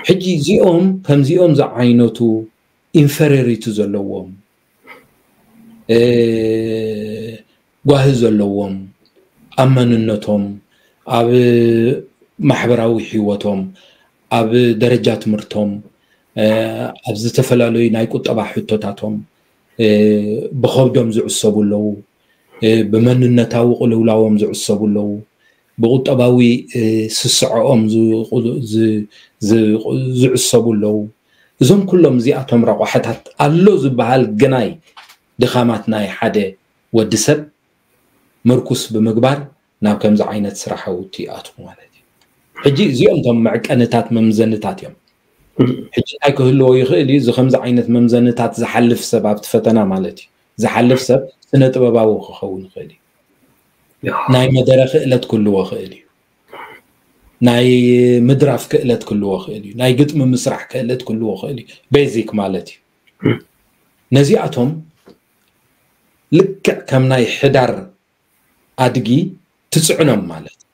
ሕጂ እዚኦም ከምዚኦም ዝዓይነቱ ኢንፌሪዮሪቲ ዘለዎም፣ እ፣ ጓሂ ዘለዎም ኣብ መንነቶም፣ ኣብ ማሕበራዊ ህይወቶም፣ ኣብ ደረጃ ትምህርቶም፣ እ፣ ኣብ ዝተፈላለዩ ናይ ቁጠባ ሕቶታቶም፣ እ፣ ብኸብዶም ዝዕሰቡ ኣለዉ። እ፣ ብመንነታዊ ቅልውላዎም ዝዕሰቡ ኣለዉ። ብቁጠባዊ፣ እ፣ ስስዐኦም ዝቁ-፣ ዝ-፣ ዝ-፣ ዝዕሰቡ ኣለዉ። እዞም ኩሎም እዚኣቶም ረቋሕታት ኣሎ ዝበሃል ግናይ ድኻማት ናይ ሓደ ወዲ ሰብ ምርኩስ ብምግባር ናብ ከምዚ ዓይነት ስራሓውቲ ይኣትዉ ማለት እዩ። ሕጂ እዚኦም እቶም መዕቀንታት መምዘንታት እዮም። ሕጂ እንታይ ክህልዎ ይኽእል እዩ? እዚ ከምዚ ዓይነት መምዘንታት ዝሓልፍ ሰብ ኣብቲ ፈተና ማለት እዩ። ዝሓልፍ ሰብ ስነ ጥበባዊ ክኸውን ይኽእል እዩ። ያ። ናይ መደረ ክእለት ክህልዎ ይኽእል እዩ። ናይ ምድራፍ ክእለት ክህልዎ ይኽእል እዩ። ናይ ግጥሚ ምስራሕ ክእለት ክህልዎ ይኽእል እዩ። ቤዚክ ማለት እዩ። ነዚኣቶም ልክዕ ከም ናይ ሕዳር ኣድጊ ትጽዕኖም ማለት እዩ።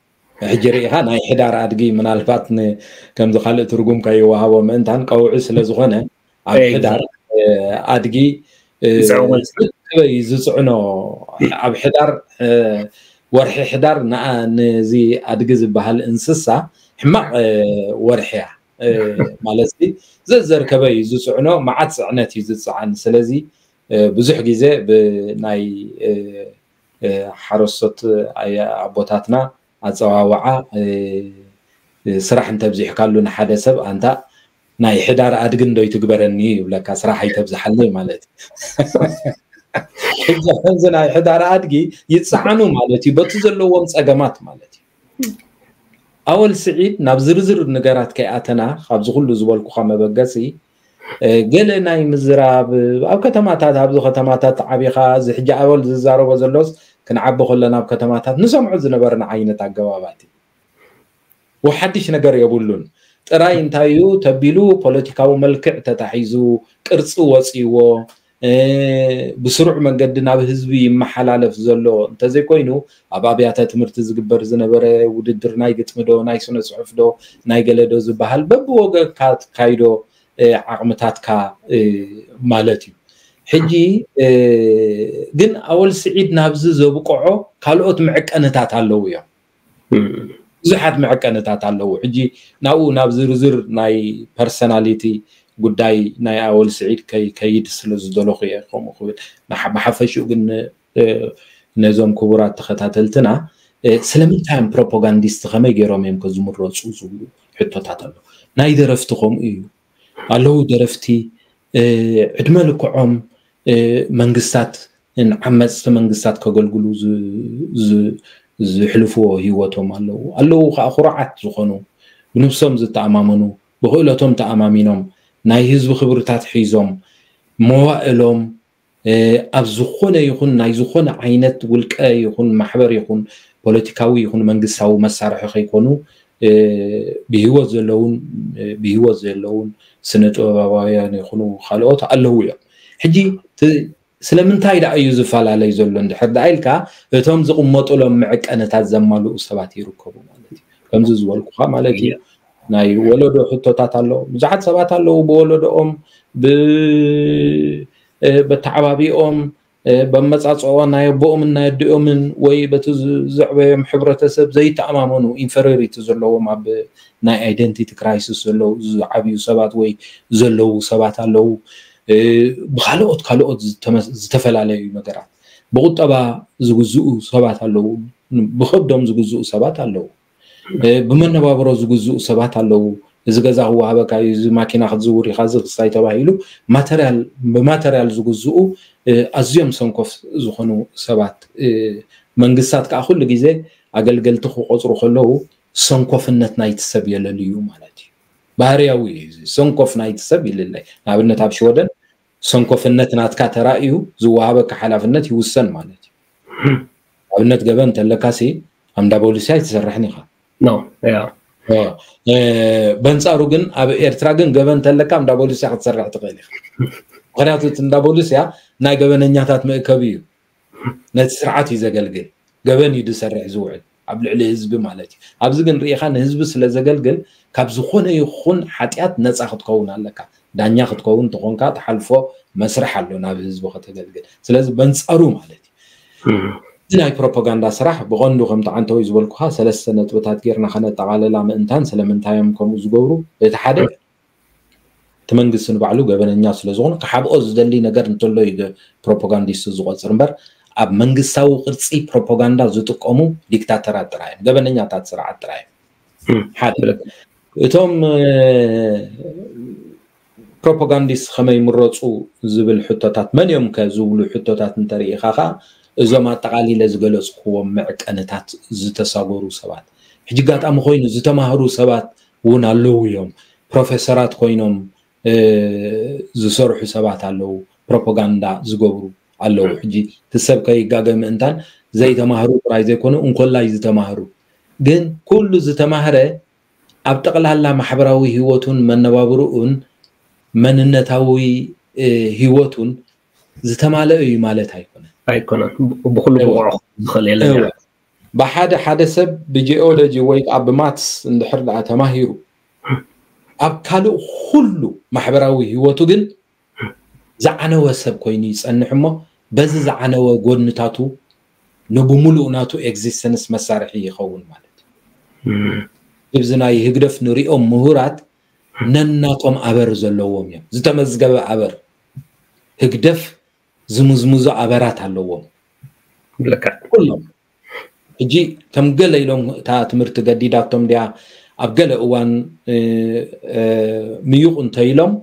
ሕጂ ርኢኻ ናይ ሕዳር ኣድጊ ምናልባት ን-፣ ከምዚ ካልእ ትርጉም ከይወሃቦ ምእንታን ቀውዒ ስለ ዝኾነ ኣብ ኤግዛክት። ሕዳር፣ እ፣ ኣድጊ፣ እ፣ ይጽዕኖ። ዝጽዕኖ ኣብ ሕዳር፣ እ፣ ወርሒ ሕዳር ንኣ-፣ ነዚ ኣድጊ ዝበሃል እንስሳ ሕማቕ፣ እ፣ ወርሒ እያ። እ፣ ማለት ሲ ዘዘርከበ እዩ ዝጽዕኖ፣ መዓት ጽዕነት እዩ ዝጽዓን። ስለዚ፣ እ፣ ብዙሕ ግዜ ብናይ፣ እ፣ እ፣ ሓረስቶት ኣየ-፣ ኣቦታትና ኣጸዋውዓ፣ እ፣ እ፣ ስራሕ እንተብዚሕካሉ ንሓደ ሰብ ኣንታ ናይ ሕዳር ኣድግን ዶ ይትግበረኒ ይብለካ፣ ስራሕ ኣይተብዝሓለይ ማለት እዩ። ሕጂ ከምዚ ናይ ሕዳር ኣድጊ ይጸዓኑ ማለት እዩ፣ በቲ ዘለዎም ጸገማት ማለት እዩ። ኣወል ስዒድ ናብ ዝርዝር ነገራት ከይኣተና ካብዚ ኩሉ ዝበልኩኻ መበገሲ ገለ ናይ ምዝራብ ኣብ ከተማታት ኣብዚ ከተማታት ዓቢኻ እዚ ሕጂ ኣወል ዝዛረቦ ዘሎስ ክንዓቢ ከለና ኣብ ከተማታት ንሰምዖ ዝነበርና ዓይነት ኣገባባት እዩ። ወሓድሽ ነገር የብሉን። ጥራይ እንታይ እዩ ተቢሉ ፖለቲካዊ መልክዕ ተታሒዙ ቅርፂ ወፂዎ ብስሩዕ መንገዲ ናብ ህዝቢ ይመሓላለፍ ዘሎ እንተዘይኮይኑ ኣብ ኣብያተ ትምህርቲ ዝግበር ዝነበረ ውድድር ናይ ግጥሚ ዶ ናይ ስነ ፅሑፍ ዶ ናይ ገለ ዶ ዝበሃል በብወገንካ ትካይዶ ዓቕምታትካ ማለት እዩ። ሕጂ ግን ኣወል ስዒድ ናብዚ ዘብቅዖ ካልኦት መዕቀንታት ኣለዉ እዮም። ብዙሓት መዕቀንታት ኣለዉ። ሕጂ ናብኡ ናብ ዝርዝር ናይ ፐርሰናሊቲ ጉዳይ ናይ ኣወል ስዒድ ከይድ ስለ ዝደለኹ እየ ከምኡ ክብል። ብሓፈሽኡ ግን ነዞም ክቡራት ተኸታተልትና ስለምንታይ እዮም ፕሮፓጋንዲስት ከመይ ገይሮም እዮም ከዝምረፁ ዝብሉ ሕቶታት ኣሎ። ናይ ደረፍቲ ከምኡ እዩ ኣለዉ። ደረፍቲ ዕድመ ልክዖም መንግስታት ንዓመፅቲ መንግስታት ከገልግሉ ዝሕልፍዎ ህይወቶም ኣለዉ ኣለዉ ከዓ ኩሩዓት ዝኾኑ ብንብሶም ዝተኣማመኑ ብክእለቶም ተኣማሚኖም ናይ ህዝቢ ክብርታት ሒዞም መዋእሎም ኣብ ዝኾነ ይኹን ናይ ዝኾነ ዓይነት ውልቀ ይኹን ማሕበር ይኹን ፖለቲካዊ ይኹን መንግስታዊ መሳርሒ ከይኮኑ ብህይወት ዘለውን ብህይወት ዘለውን ስነ ጥበባውያን ይኹኑ ካልኦት ኣለዉ እዮም። ሕጂ ስለምንታይ ደኣ እዩ ዝፈላለይ ዘሎ እንድሕር ደኣ ኢልካ እቶም ዝቕመጡሎም መዕቀንታት ዘማልኡ ሰባት ይርከቡ ማለት እዩ። ከምዚ ዝበልኩኻ ማለት እዩ። ናይ ወለዶ ሕቶታት ኣለዉ። ብዙሓት ሰባት ኣለዉ ብወለዶኦም ብተዓባቢኦም በመፃፅኦ ናይ ኣቦኦምን ናይ ኣዲኦምን ወይ በቲ ዘዕበዮም ሕብረተሰብ ዘይተኣማመኑ ኢንፌሪዮሪቲ ዘለዎም ኣብ ናይ ኣይደንቲቲ ክራይሲስ ዘለዉ ዝዓብዩ ሰባት ወይ ዘለዉ ሰባት ኣለዉ። ብካልኦት ካልኦት ዝተፈላለዩ ነገራት ብቁጠባ ዝግዝኡ ሰባት ኣለዉ። ብከብዶም ዝግዝኡ ሰባት ኣለዉ። ብመነባብሮ ዝግዝኡ ሰባት ኣለዉ። እዚ ገዛ ክወሃበካ እዩ፣ እዚ ማኪና ክትዝውር ኢኻ፣ እዚ ክስታይ ተባሂሉ ማተርያል ብማተርያል ዝግዝኡ ኣዝዮም ሰንኮፍ ዝኾኑ ሰባት መንግስታት ከዓ ኩሉ ግዜ ኣገልገልቲ ክቆፅሩ ከለዉ ሰንኮፍነት ናይቲ ሰብ የለልዩ ማለት እዩ። ባህርያዊ እዩ። ሰንኮፍ ናይቲ ሰብ ይልለይ። ንኣብነት ኣብ ሽወደን ሰንኮፍነት ናትካ ተራእዩ ዝወሃበካ ሓላፍነት ይውሰን ማለት እዩ። ኣብነት ገበን እንተለካ ሲ ኣብ እንዳ ቦሊስ ኣይትሰርሕን ኢኻ። በንጻሩ ግን ኣብ ኤርትራ ግን ገበን እንተለካ ኣብ እንዳ ቦሊስ ክትሰርሕ ትኽእል ኢኻ። ምክንያቱ እቲ እንዳ ቦሊስ ናይ ገበነኛታት መእከቢ እዩ። ነቲ ስርዓት እዩ ዘገልግል። ገበን እዩ ዝሰርሕ ዝውዕል ኣብ ልዕሊ ህዝቢ ማለት እዩ። ኣብዚ ግን ርኢኻ ንህዝቢ ስለ ዘገልግል ካብ ዝኾነ ይኹን ሓጢኣት ነፃ ክትከውን ኣለካ። ዳኛ ክትከውን እንተኾንካ ትሓልፎ መስርሕ ኣሎ ናብ ህዝቢ ከተገልግል። ስለዚ በንጻሩ ማለት እዩ። እዚ ናይ ፕሮፓጋንዳ ስራሕ ብቐንዱ ከምቲ ዓንተወይ ዝበልኩኻ ሰለስተ ነጥብታት ጌርና ከነጠቓልላ ምእንታን ስለምንታይ እዮም ከምኡ ዝገብሩ። እቲ ሓደ እቲ መንግስቲ ንባዕሉ ገበነኛ ስለ ዝኾነ ክሓብኦ ዝደሊ ነገር እንተሎ እዩ ፕሮፓጋንዲስት ዝቆፅር እምበር ኣብ መንግስታዊ ቅርፂ ፕሮፓጋንዳ ዝጥቀሙ ዲክታተራት ጥራይ እዮም፣ ገበነኛታት ስርዓት ጥራይ እዮም። ሓደ እቶም ፕሮፓጋንዲስት ከመይ ምረፁ ዝብል ሕቶታት መን እዮም ከ ዝብሉ ሕቶታት እንተርኢኻ ከዓ እዞም ኣጠቓሊለ ዝገለፅክዎም መዕቀንታት ዝተሳገሩ ሰባት ሕጂ ኣጋጣሚ ኮይኑ ዝተማህሩ ሰባት እውን ኣለዉ እዮም። ፕሮፌሰራት ኮይኖም ዝሰርሑ ሰባት ኣለዉ፣ ፕሮፓጋንዳ ዝገብሩ ኣለዉ። ሕጂ እቲ ሰብ ከይጋገ ምእንታን ዘይተማህሩ ጥራይ ዘይኮኑ እንኮላይ ዝተማህሩ ግን ኩሉ ዝተማህረ ኣብ ጠቕላላ ማሕበራዊ ህይወቱን መነባብርኡን መንነታዊ ህይወቱን ዝተማለአ እዩ ማለት ኣይኮነን። ኣይኮነን። ብኩሉ ብቑዕ ዝኽእል የለን። ብሓደ ሓደ ሰብ ብጂኦሎጂ ወይ ከዓ ብማትስ እንድሕር ደኣ ተማሂሩ ኣብ ካልእ ኩሉ ማሕበራዊ ህይወቱ ግን ዝዓነወ ሰብ ኮይኑ ይፀንሕ እሞ በዚ ዝዓነወ ጎድንታቱ ንብሙሉእ ናቱ ኤግዚስተንስ መሳርሒ ይኸውን ማለት እዩ። እዚ ናይ ህግደፍ ንሪኦም ምሁራት ነናቶም ኣበር ዘለዎም እዮም። ዝተመዝገበ ኣበር ህግደፍ ዝምዝምዞ ኣበራት ኣለዎም። ኩሎም ሕጂ ከም ገለ ኢሎም እታ ትምህርቲ ገዲዳቶም ድያ ኣብ ገለ እዋን ምዩቕ እንተኢሎም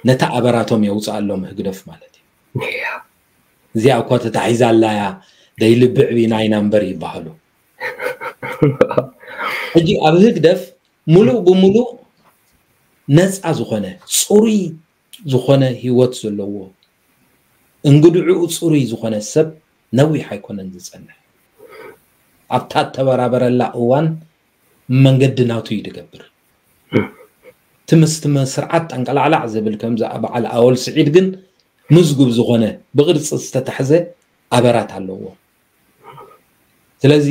ነታ ኣበራቶም የውፅኣሎም ህግደፍ ማለት እዩ። እዚኣ እኳ ተታሒዛ ኣላያ ደይልብዕ ቢናይና እምበር ይበሃሉ። ሕጂ ኣብ ህግደፍ ሙሉእ ብሙሉእ ነፃ ዝኾነ ፅሩይ ዝኾነ ህይወት ዘለዎ እንግድዕኡ ፅሩይ ዝኾነ ሰብ ነዊሕ ኣይኮነን ዝፀንሕ። ኣብታ እተበራበረላ እዋን መንገዲ ናቱ እዩ ዝገብር። እቲ ምስ እቲ ስርዓት ጠንቀላዕላዕ ዝብል ከምዚ በዓል ኣወል ስዒድ ግን ምዝጉብ ዝኾነ ብቕርፂ ዝተታሕዘ ኣበራት ኣለዎ። ስለዚ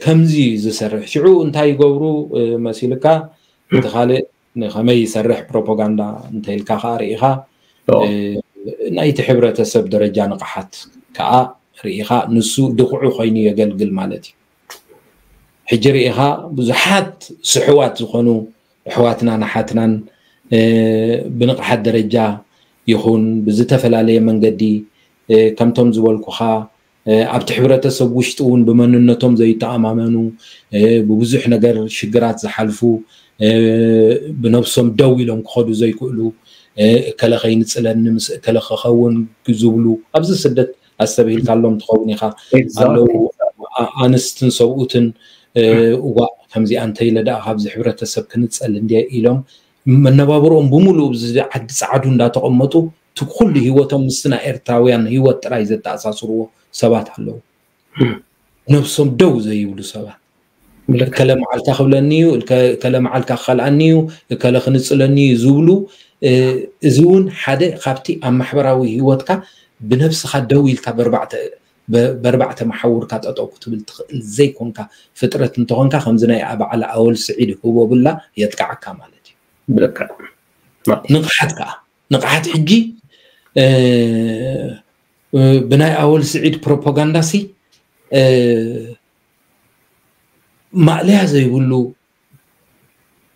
ከምዚ ዝሰርሕ ሽዑ እንታይ ይገብሩ መሲልካ እቲ ካልእ ንኸመይ ይሰርሕ ፕሮፓጋንዳ እንተኢልካ ከዓ ርኢኻ ናይቲ ሕብረተሰብ ደረጃ ንቕሓት ከዓ ርኢኻ ንሱ ድኹዑ ኮይኑ የገልግል ማለት እዩ። ሕጂ ርኢኻ ብዙሓት ስሕዋት ዝኾኑ ኣሕዋትናን ኣሓትናን ብንቕሓት ደረጃ ይኹን ብዝተፈላለየ መንገዲ ከምቶም ዝበልኩኻ ኣብቲ ሕብረተሰብ ውሽጢ እውን ብመንነቶም ዘይተኣማመኑ ብብዙሕ ነገር ሽግራት ዝሓልፉ ብነብሶም ደው ኢሎም ክኸዱ ዘይክእሉ እከለ ከይንፅለኒ ምስ እከለ ክኸውን ዝብሉ ኣብዚ ስደት ኣስተብሂልካሎም ትኸውን ኢኻ ኣለዉ። ኣንስትን ሰብኡትን እዋ ከምዚኣ እንተኢለ ደኣ ካብዚ ሕብረተሰብ ክንፀል እንድየ ኢሎም መነባብሮኦም ብምሉእ ኣብዚ ዓዲ ፃዕዱ እንዳተቐመጡ እቲ ኩሉ ህይወቶም ምስቲ ናይ ኤርትራውያን ህይወት ጥራይ ዘተኣሳስርዎ ሰባት ኣለዉ። ነብሶም ደው ዘይብሉ ሰባት እከለ መዓልታ ክብለኒ እዩ፣ እከለ መዓልካ ክኸልኣኒ እዩ፣ እከለ ክንፅለኒ እዩ ዝብሉ እዚ እውን ሓደ ካብቲ ኣብ ማሕበራዊ ህይወትካ ብነብስኻ ደው ኢልካ በርባዕተ መሓውርካ ጠጠው ክትብል ትኽእል ዘይኮንካ ፍጥረት እንተኾንካ ከምዚ ናይ በዓል ኣወል ስዒድ ህቦብላ የጥቅዓካ ማለት እዩ። ንቕሓት ከዓ ንቕሓት ሕጂ ብናይ ኣወል ስዒድ ፕሮፓጋንዳ ሲ ማእለያ ዘይብሉ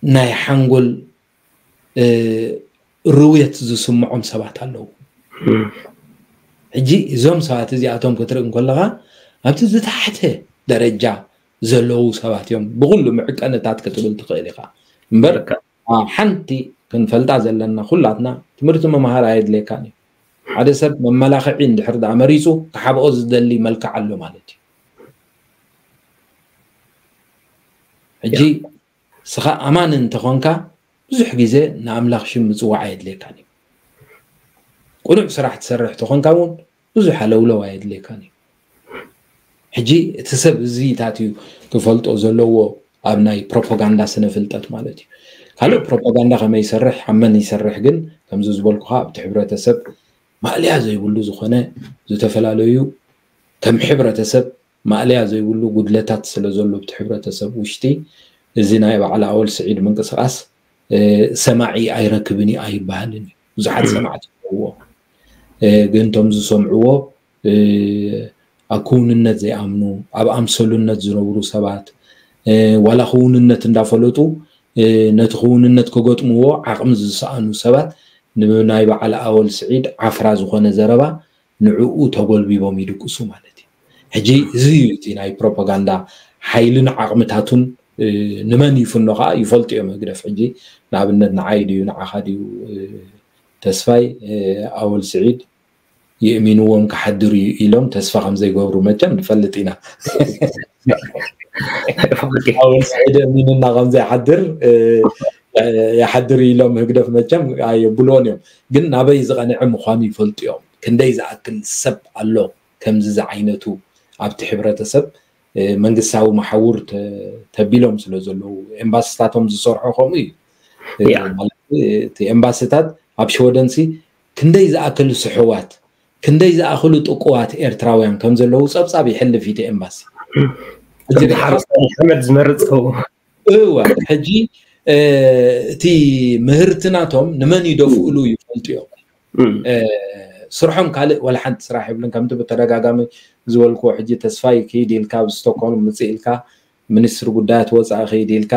ናይ ሓንጎል ርውየት ዝስምዖም ሰባት ኣለዉ። ሕጂ እዞም ሰባት እዚኣቶም ክትርኢ እንከለኻ ኣብቲ ዝተሓተ ደረጃ ዘለዉ ሰባት እዮም ብኩሉ ምዕቀንታት ክትብል ትኽእል ኢኻ እምበር ሓንቲ ክንፈልጣ ዘለና ኩላትና ትምህርቲ ምምሃር ኣየድልየካን እዩ። ሓደ ሰብ መመላኽዒ እንድሕር ደኣ መሪፁ ክሓብኦ ዝደሊ መልክዕ ኣሎ ማለት እዩ። ሕጂ ስኻ ኣማኒ እንተኾንካ ብዙሕ ግዜ ንኣምላኽ ሽም ምፅዋዕ ኣየድልየካን እዩ። ቅኑዕ ስራሕ ትሰርሕ ተኾንካ እውን ብዙሕ ኣለውለው ኣየድልየካን እዩ። ሕጂ እቲ ሰብ እዚታት እዩ ክፈልጦ ዘለዎ ኣብ ናይ ፕሮፓጋንዳ ስነ ፍልጠት ማለት እዩ። ካልእ ፕሮፓጋንዳ ከመይ ይሰርሕ ኣብ መን ይሰርሕ ግን ከምዚ ዝበልኩኻ ኣብቲ ሕብረተሰብ ማእለያ ዘይብሉ ዝኾነ ዝተፈላለዩ ከም ሕብረተሰብ ማእለያ ዘይብሉ ጉድለታት ስለ ዘሎ ኣብቲ ሕብረተሰብ ውሽጢ እዚ ናይ በዓል ኣወል ስዒድ ምንቅስቃስ ሰማዒ ኣይረክብን እዩ ኣይበሃልን እዩ። ብዙሓት ሰማዕቲ ኣለዎ ግን እቶም ዝሰምዕዎ ኣብ ክውንነት ዘይኣምኑ ኣብ ኣምሰሉነት ዝነብሩ ሰባት ዋላ ክውንነት እንዳፈለጡ ነቲ ክውንነት ክገጥምዎ ዓቕሚ ዝሰኣኑ ሰባት ንናይ በዓል ኣወል ስዒድ ዓፍራ ዝኾነ ዘረባ ንዕኡ ተጎልቢቦም ይድቅሱ ማለት እዩ። ሕጂ እዚ እዩ እቲ ናይ ፕሮፓጋንዳ ሓይልን ዓቕምታቱን ንመን ይፍኖ ከዓ ይፈልጡ እዮም ህግደፍ። ሕጂ ንኣብነት ንዓይ ድዩ ንዓኻ ድዩ ተስፋይ ኣወል ስዒድ የእሚንዎም ክሓድር እዩ ኢሎም ተስፋ ከም ዘይገብሩ መቸም ንፈልጥ ኢና። ኣወል ስዒድ የእሚንና ከም ዘይሓድር ይሓድር ኢሎም ህግደፍ መቸም ኣየብልዎን እዮም። ግን ናበይ ዝቐንዐ ምዃኑ ይፈልጡ እዮም። ክንደይ ዝኣክል ሰብ ኣሎ ከምዚ ዝዓይነቱ ኣብቲ ሕብረተሰብ መንግስታዊ መሓውር ተቢሎም ስለ ዘለዉ ኤምባስታቶም ዝሰርሖ ከምኡ እዩ። እቲ ኤምባስታት ኣብ ሸወደንሲ ክንደይ ዝኣክል ስሕዋት ክንደይ ዝኣክሉ ጥቁዋት ኤርትራውያን ከም ዘለዉ ፀብፃብ ይሕልፍ እቲ ኤምባሲ። ሓመድ ዝመርፅ እዋ ሕጂ እቲ ምህርቲ ናቶም ንመን ይደፍእሉ ይፈልጡ እዮም። ስርሖም ካልእ ዋላ ሓንቲ ስራሕ የብልን። ከምቲ ብተደጋጋሚ ዝበልክዎ ሕጂ ተስፋይ ክይድ ኢልካ ኣብ ስቶክሆልም ምፅእ ኢልካ ሚኒስትሪ ጉዳያት ወፃኢ ክይድ ኢልካ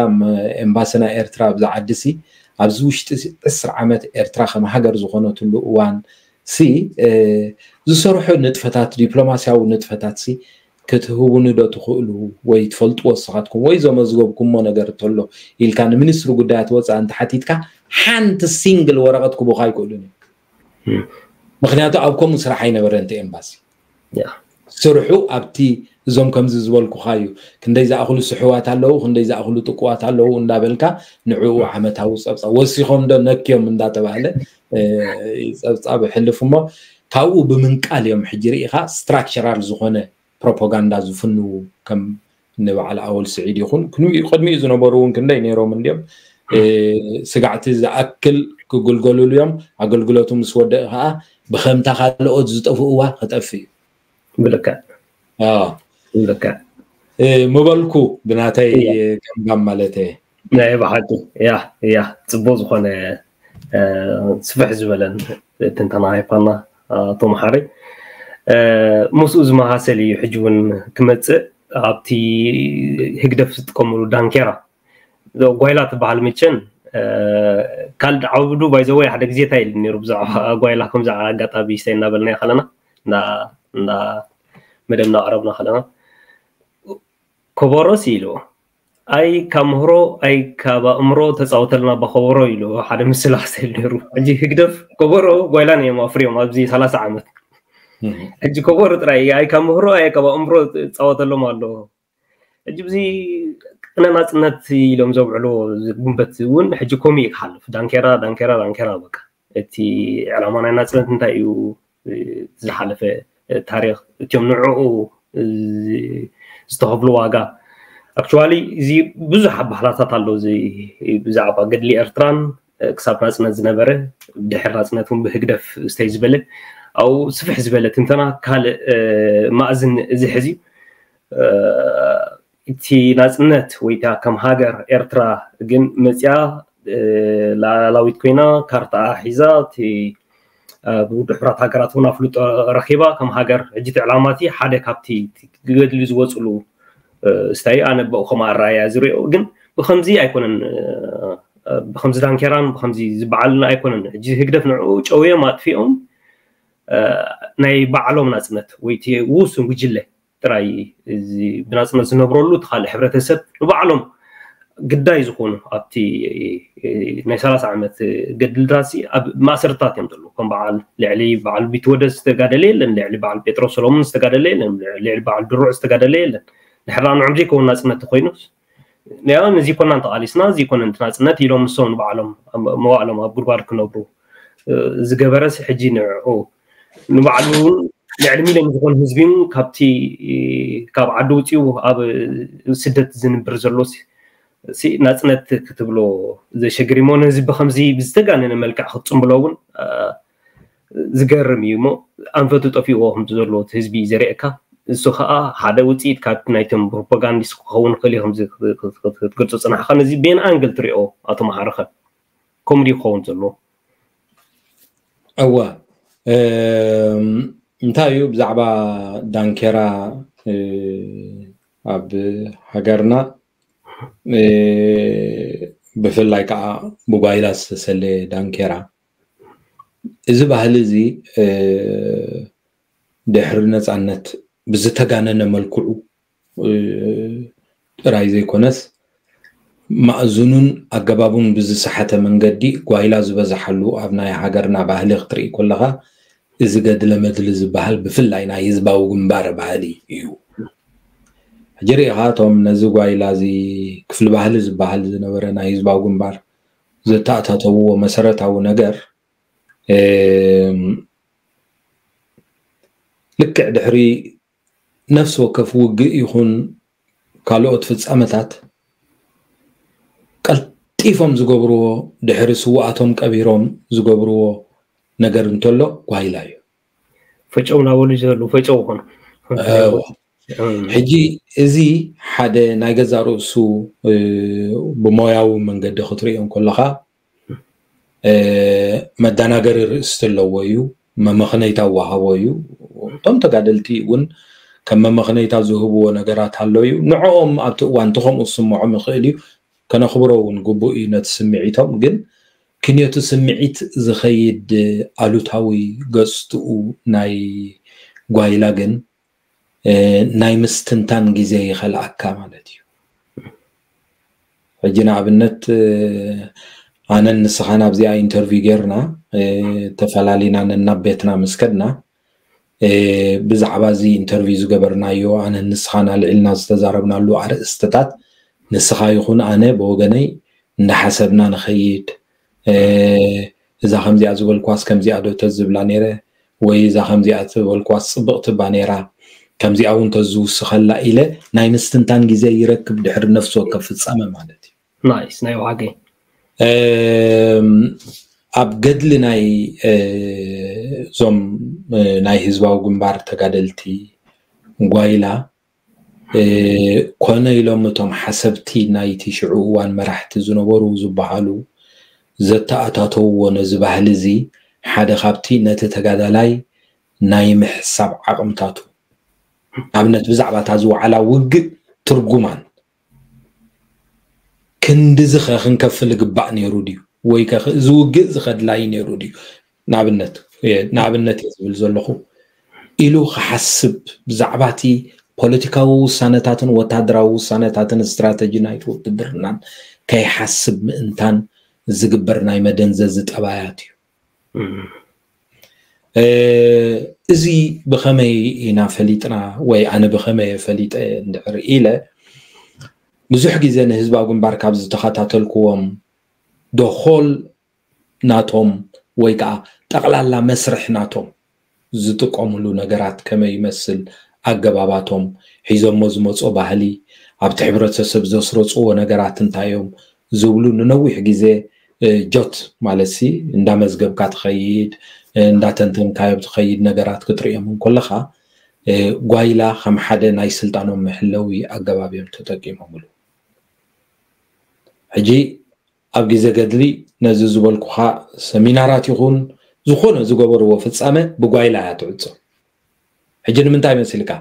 ኤምባሲ ናይ ኤርትራ ኣብዚ ዓዲ ሲ ኣብዚ ውሽጢ ዕስራ ዓመት ኤርትራ ከም ሃገር ዝኾነትሉ እዋን ሲ ዝሰርሑ ንጥፈታት ዲፕሎማስያዊ ንጥፈታት ሲ ክትህቡኒ ዶ ትኽእሉ ወይ ትፈልጥዎ ንስኻትኩም ወይ ዘመዝገብኩሞ ነገር እንተሎ ኢልካ ንሚኒስትሪ ጉዳያት ወፃኢ እንተሓቲትካ ሓንቲ ሲንግል ወረቐት ክቡኻ ኣይክእሉን እዮም። ምክንያቱ ኣብ ከምኡ ስራሕ ኣይነበረን እቲ ኤምባሲ። ስርሑ ኣብቲ እዞም ከምዚ ዝበልኩኻ እዩ፣ ክንደይ ዝኣኽሉ ስሕዋት ኣለዉ፣ ክንደይ ዝኣኽሉ ጥቁዋት ኣለዉ እንዳበልካ ንዕኡ ዓመታዊ ፀብፃብ ወሲኾም ዶ ነክዮም እንዳተባህለ ፀብፃብ ይሕልፍ እሞ ካብኡ ብምንቃል እዮም ሕጂ ርኢኻ ስትራክቸራል ዝኾነ ፕሮፓጋንዳ ዝፍንዉ ከም ንበዓል ኣወል ስዒድ ይኹን ቅድሚኡ ዝነበሩ እውን ክንደይ ነይሮም እንዲዮም። ስጋዕቲ ዝኣክል ክግልገሉሉ እዮም። ኣገልግሎቱ ምስ ወደእ ከዓ ብከምታ ካልኦት ዝጠፍእዋ ክጠፍ እዩ። ብልክዕ ብልክዕ ምበልኩ ብናተይ ከምጋም ማለት እየ። ናይ ብሓቂ ያ ያ ፅቡቅ ዝኾነ ስፍሕ ዝበለን ትንተና ሃይፓና ኣቶ መሓሪ ምስኡ ዝመሳሰል እዩ። ሕጂ እውን ክመፅእ ኣብቲ ህግደፍ ዝጥቀምሉ ዳንኬራ ጓይላ ትበሃል ምቸን ካልድ ዓብዱ ባይዘወይ ሓደ ግዜ እንታይ ኢሉ ነይሩ ብዛዕባ ጓይላ ከምዚ ኣጋጣሚ ስታይ እናበልና ከለና እንዳ መደብ እናቕረብና ከለና ከበሮስ ኢሉ ኣይ ካብ ምህሮ ኣይ ካብ ኣእምሮ ተፃወተልና ባኸበሮ ኢሉ ሓደ ምስላ ክስእል ነይሩ። ሕጂ ህግደፍ ከበሮ ጓይላን እዮም ኣፍርዮም ኣብዚ ሰላሳ ዓመት። ሕጂ ከበሮ ጥራይ ኣይ ካብ ምህሮ ኣይ ካብ ኣእምሮ ፃወተሎም ኣሎ። ሕጂ ብዚ ቅነ ናፅነት ኢሎም ዘውዕልዎ ጉንበት እውን ሕጂ ኮሚኡ ክሓልፍ ዳንኬራ ዳንኬራ ዳንኬራ በቃ እቲ ዕላማ ናይ ናፅነት እንታይ እዩ ዝሓለፈ ታሪክ እቲኦም ንዕኡ ዝተኸፍሉ ዋጋ ኣክቹዋሊ እዚ ብዙሕ ኣባህላታት ኣሎ እዚ ብዛዕባ ገድሊ ኤርትራን ክሳብ ናፅነት ዝነበረ ድሕር ናፅነት እውን ብህግደፍ ዝተይ ዝበለ ኣብኡ ስፍሕ ዝበለ ትንተና ካልእ ማእዝን እዚ ሕዚ እቲ ናፅነት ወይ ከዓ ከም ሃገር ኤርትራ ግን መፅያ ላላዊት ኮይና ካርታ ሒዛ እቲ ብውድብ ሕብራት ሃገራት እውን ኣፍልጦ ረኪባ ከም ሃገር ሕጂ እቲ ዕላማ እቲ ሓደ ካብቲ ገድሊ ዝወፅሉ ስታይ ኣነ በኡ ከም ኣረኣያ ዝሪኦ ግን ብከምዚ ኣይኮነን ብከምዚ ዳንኬራን ብከምዚ ዝበዓልን ኣይኮነን ሕጂ ህግደፍ ንዕኡ ጨውዮም ኣጥፊኦም ናይ ባዕሎም ናፅነት ወይ ውሱን ጉጅለ ጥራይ ብናፅነት ዝነብረሉ እቲ ካልእ ሕብረተሰብ ንባዕሎም ግዳይ ዝኾኑ ኣብቲ ናይ ሰላሳ ዓመት ገድልታት ኣብ ማእሰርታት እዮም ዘለዉ ከም በዓል ልዕሊ በዓል ቢትወደድ ዝተጋደለ የለን ልዕሊ በዓል ጴጥሮስ ሰሎሞን ዝተጋደለ የለን ልዕሊ በዓል ድሩዕ ዝተጋደለ የለን ድሕራ ንዕም ዘይከውን ናፅነት ተኮይኑስ ንያውን እዚ ኮና እንተቃሊስና እዚ ኮነ ናፅነት ኢሎም ንሶም ንባዕሎም መዋእሎም ኣብ ጉድጓድ ክነብሩ ዝገበረስ ሕጂ ንዕኡ ንባዕሉ እውን ልዕሊ ሚልዮን ዝኾኑ ህዝቢ ካብቲ ካብ ዓዲ ውፅኡ ኣብ ስደት ዝንብር ዘሎ ናፅነት ክትብሎ ዘሸግር እሞ ነዚ ብከምዚ ብዝተጋነነ መልክዕ ክትፅምብሎ እውን ዝገርም እዩ እሞ ኣንፈቱ ጠፊእዎ ከምቲ ዘለዎ እቲ ህዝቢ እዩ ዘርእየካ እሱ ከዓ ሓደ ውፅኢት ካብ ናይቶም ፕሮፓጋንዲስት ክኸውን ክእል እዩ ክትገልፆ ፅናሕካ ነዚ ቤን ኣንግል ትሪኦ ኣቶ መሓርኸ ኮሜዲ ክኸውን ዘለዎ እወ እንታይ እዩ ብዛዕባ ዳንኬራ ኣብ ሃገርና ብፍላይ ከዓ ብጓይላ ዝተሰለየ ዳንኬራ እዚ ባህሊ እዚ ድሕሪ ነፃነት ብዝተጋነነ መልክዑ ጥራይ ዘይኮነስ ማእዝኑን ኣገባቡን ብዝሰሓተ መንገዲ ጓይላ ዝበዝሓሉ ኣብ ናይ ሃገርና ባህሊ ክትርኢ ከለኻ እዚ ገድለ መድሊ ዝበሃል ብፍላይ ናይ ህዝባዊ ግንባር ባህሊ እዩ። ሕጂ ርኢኻ እቶም ነዚ ጓይላ እዚ ክፍሊ ባህሊ ዝበሃል ዝነበረ ናይ ህዝባዊ ግንባር ዘተኣታተውዎ መሰረታዊ ነገር ልክዕ ድሕሪ ነፍሲ ወከፍ ውግእ ይኹን ካልኦት ፍጻመታት ቀልጢፎም ዝገብርዎ ድሕሪ ስውኣቶም ቀቢሮም ዝገብርዎ ነገር እንተሎ ጓይላ እዩ። ፈጨው ናበሉ ዘለዉ ፈጨው ይኾኑ። ሕጂ እዚ ሓደ ናይ ገዛ ርእሱ ብሞያዊ መንገዲ ክትርእዮ ከለኻ መደናገሪ ርእስቲ ኣለዎ እዩ፣ መመኽነይታ ወሃቦ እዩ። እቶም ተጋደልቲ እውን ከም መመኽነይታ ዝህብዎ ነገራት ኣሎ እዩ። ንዕኦም ኣብቲ እዋን እቲ ከምኡ ዝስምዖም ይኽእል እዩ፣ ከነኽብሮ እውን ግቡእ እዩ ነቲ ስምዒቶም። ግን ክንዮቲ ስምዒት ዝኸይድ ኣሉታዊ ገፅትኡ ናይ ጓይላ ግን ናይ ምስትንታን ግዜ ይኸልኣካ ማለት እዩ። ሕጂ ንኣብነት ኣነን ንስኻን ኣብዚኣ ኢንተርቪው ጌርና ተፈላሊና ነናብ ቤትና ምስ ከድና ብዛዕባ እዚ ኢንተርቪው ዝገበርናዮ ኣነን ንስኻን ኣልዒልና ዝተዛረብናሉ ኣርእስትታት ንስኻ ይኹን ኣነ ብወገነይ እንዳሓሰብና ንኸይድ እዛ ከምዚኣ ዝበልኳስ ከምዚኣ ዶ ተዝብላ ነይረ ወይ እዛ ከምዚኣ ዝበልኳስ ፅብቕቲ እባ ነይራ ከምዚኣ እውን ተዝውስኸላ ኢለ ናይ ምስትንታን ግዜ ይረክብ ድሕሪ ነፍሲ ወከፍ ፍፃመ ማለት እዩ። ናይስ ናይ ዋገ ኣብ ገድሊ ናይ እዞም ናይ ህዝባዊ ግንባር ተጋደልቲ ጓይላ ኮነ ኢሎም እቶም ሓሰብቲ ናይቲ ሽዑ እዋን መራሕቲ ዝነበሩ ዝበሃሉ ዘተኣታተውዎ ነዚ ባህሊ እዚ ሓደ ካብቲ ነቲ ተጋዳላይ ናይ ምሕሳብ ዓቕምታቱ ኣብነት ብዛዕባ እታ ዝወዓላ ውግእ ትርጉማን ክንድዚ ኸ ክንከፍል ግባእ ነይሩ ድዩ ወይ ከ እዚ ውግእ እዚ ከድላይ ነይሩ ድዩ ንኣብነት ንኣብነት እየ ዝብል ዘለኹ ኢሉ ክሓስብ ብዛዕባ እቲ ፖለቲካዊ ውሳነታትን ወታደራዊ ውሳነታትን ስትራተጂ ናይቲ ውትድርናን ከይሓስብ ምእንታን ዝግበር ናይ መደንዘዚ ጠባያት እዩ። እዚ ብኸመይ ኢና ፈሊጥና ወይ ኣነ ብኸመይ እየ ፈሊጠ እንድሕር ኢለ ብዙሕ ግዜ ንህዝባዊ ግንባር ካብ ዝተኸታተልክዎም ደኾል ናቶም ወይ ከዓ ጠቕላላ መስርሕ ናቶም ዝጥቀምሉ ነገራት ከመይ ይመስል ኣገባባቶም ሒዞሞ ዝመፁ ባህሊ ኣብቲ ሕብረተሰብ ዘስረፅዎ ነገራት እንታይ እዮም ዝብሉ ንነዊሕ ግዜ ጆት ማለት ሲ እንዳመዝገብካ ትኸይድ እንዳተንተንካዮ ትኸይድ ነገራት ክትርእዮም እንከለኻ ጓይላ ከም ሓደ ናይ ስልጣኖም መሕለዊ ኣገባብ እዮም ተጠቂሞምሉ። ሕጂ ኣብ ግዜ ገድሊ ነዚ ዝበልኩኻ ሰሚናራት ይኹን ዝኾነ ዝገበርዎ ፍፃመ ብጓይላ እያ ትዕፆ። ሕጂ ንምንታይ መሲልካ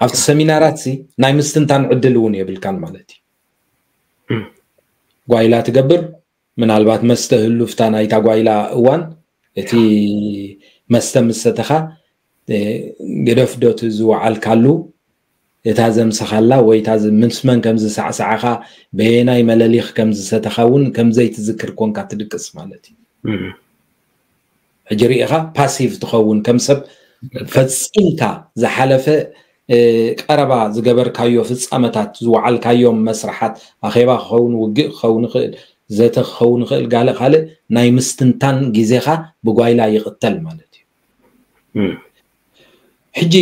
ኣብቲ ሰሚናራት ሲ ናይ ምስትንታን ዕድል እውን የብልካን ማለት እዩ። ጓይላ ትገብር ምናልባት መስተ ህሉፍታ ናይታ ጓይላ እዋን እቲ መስተ ምሰተኻ ግደፍ ዶ እቲ ዝወዓልካሉ እታ ዘምሰኻላ ወይ እታ ምስ መን ከም ዝሳዕሳዕኻ በየናይ መለሊኽ ከም ዝሰተኻ እውን ከም ዘይትዝክር ኮንካ ትድቅስ ማለት እዩ። ሕጂ ርኢኻ ፓሲቭ ትኸውን ከም ሰብ ፈፂምካ ዝሓለፈ ቀረባ ዝገበርካዮ ፍፃመታት ዝወዓልካዮም መስርሓት ኣኼባ ክኸውን ውግእ ክኸውን ይኽእል ዘተ ክኸውን ይኽእል ጋለ ካልእ ናይ ምስትንታን ግዜኻ ብጓይላ ይቕተል ማለት እዩ። ሕጂ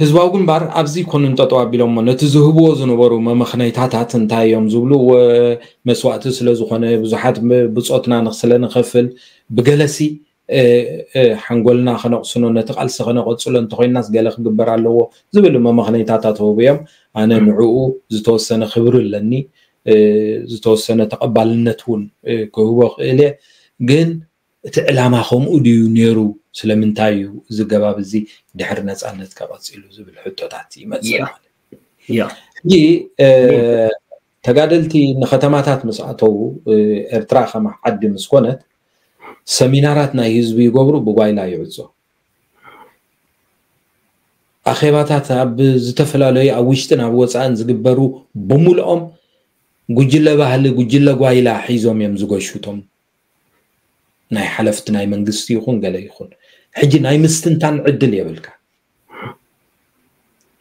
ህዝባዊ ግንባር ኣብዚ ኮኑን ጠጠው ኣቢሎሞ ነቲ ዝህብዎ ዝነበሩ መመኽነይታታት እንታይ እዮም ዝብሉ መስዋእቲ ስለ ዝኾነ ብዙሓት ብፆትና ስለ ንኸፍል ብገለሲ ሓንጎልና ከነቕስኖ ነቲ ቃልሲ ከነቐፅሎ እንተኮይናስ ገለ ክግበር ኣለዎ ዝብል መመኽነይታታት ተውብዮም ኣነ ንዕኡ ዝተወሰነ ክብሪ ኣለኒ ዝተወሰነ ተቐባልነት እውን ክህቦ ክእል እየ ግን እቲ ዕላማ ከምኡ ድዩ ነይሩ ስለምንታይ እዩ እዚ ገባብ እዚ ድሕሪ ነፃነት ከቐፂሉ ዝብል ሕቶታት ይመፅእ ማለት እዩ። ሕጂ ተጋደልቲ ንከተማታት ምስ ኣተዉ ኤርትራ ከም ዓዲ ምስ ኮነት ሰሚናራት ናይ ህዝቢ ይገብሩ ብጓይላ ይዕፆ ኣኼባታት ኣብ ዝተፈላለዩ ኣብ ውሽጥን ኣብ ወፃእን ዝግበሩ ብምልኦም ጉጅለ ባህሊ ጉጅለ ጓይላ ሒዞም እዮም ዝገሹ እቶም ናይ ሓለፍቲ ናይ መንግስቲ ይኹን ገለ ይኹን ሕጂ ናይ ምስትንታን ዕድል የብልካ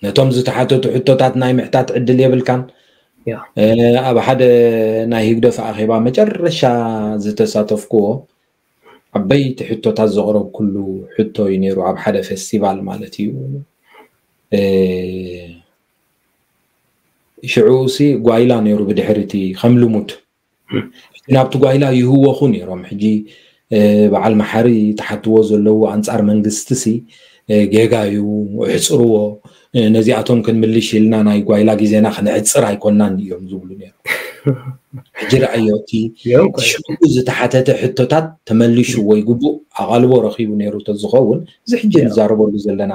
ነቶም ዝተሓተቱ ሕቶታት ናይ ምሕታት ዕድል የብልካን ኣብ ሓደ ናይ ህግደፍ ኣኼባ መጨረሻ ዝተሳተፍክዎ ዓበይቲ ሕቶታት ዘቕረብኩሉ ሕቶ እዩ ነይሩ ኣብ ሓደ ፌስቲቫል ማለት እዩ ሽዑ ሲ ጓይላ ነይሩ ብድሕርቲ ከም ልሙድ ናብቲ ጓይላ ይህወኹ ነይሮም ሕጂ በዓል መሓሪ ተሓትዎ ዘለዉ ኣንፃር መንግስቲ ሲ ጌጋ እዩ እሕፅርዎ ነዚኣቶም ክንምልሽ ኢልና ናይ ጓይላ ግዜና ክነዕፅር ኣይኮናን እዮም ዝብሉ ነይሮም ሕጂ ረኣዮ እቲ ሽዑ ዝተሓተተ ሕቶታት ተመሊሹ ወይ ግቡእ ኣቓልቦ ረኺቡ ነይሩ ተዝኸውን እዚ ሕጂ ንዛረበሉ ዘለና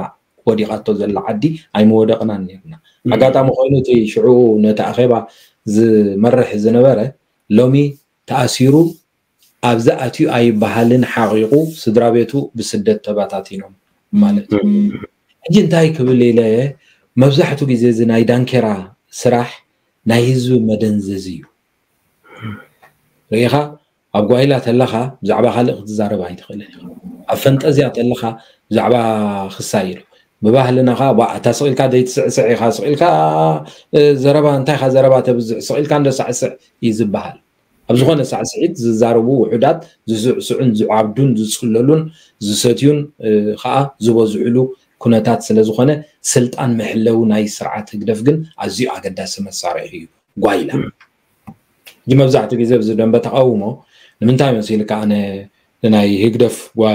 ወዲቓቶ ዘላ ዓዲ ኣይምወደቕናን ነርና ኣጋጣሚ ኮይኑ እቲ ሽዑ ነቲ ኣኼባ ዝመርሕ ዝነበረ ሎሚ ተኣሲሩ ኣብዚ ኣትዩ ኣይበሃልን ሓቒቑ ስድራ ቤቱ ብስደት ተባታቲኖም ማለት እዩ ሕጂ እንታይ ክብል ኢለ፣ መብዛሕቱ ግዜ እዚ ናይ ዳንኬራ ስራሕ ናይ ህዝቢ መደንዘዚ እዩ። ርኢኻ፣ ኣብ ጓይላ ተለኻ ብዛዕባ ካልእ ክትዛረብ ኣይትኽእልን ኢኻ። ኣብ ፈንጠዝያ ተለኻ ብዛዕባ ክሳይ ኢሉ ብባህልና ኸዓ፣ ባ፣ እታ ስቕ ኢልካ ዘይትስዕስዕ ኢኻ፣ ስቕ ኢልካ፣ እ፣ ዘረባ፣ እንታይ ኢኻ ዘረባ ተብዝሕ፣ ስቕ ኢልካ እንዶ ሳዕስዕ እዩ ዝበሃል። ኣብ ዝኾነ ሳዕስዒት ዝዛረቡ ውሑዳት፣ ዝስዕስዑን ዝዓብዱን ዝጽለሉን ዝሰትዩን፣ እ፣ ኸዓ ዝበዝሕሉ ኩነታት ስለ ዝኾነ፣ ስልጣን መሕለዊ ናይ ስርዓት ህግደፍ ግን ኣዝዩ ኣገዳሲ መሳርሒ እዩ። ጓይላ። ሕጂ መብዛሕትኡ ግዜ ኣብዚ ደንበ ተቓውሞ ንምንታይ መሲልካ ኣነ ንናይ ህግደፍ ጓ-፣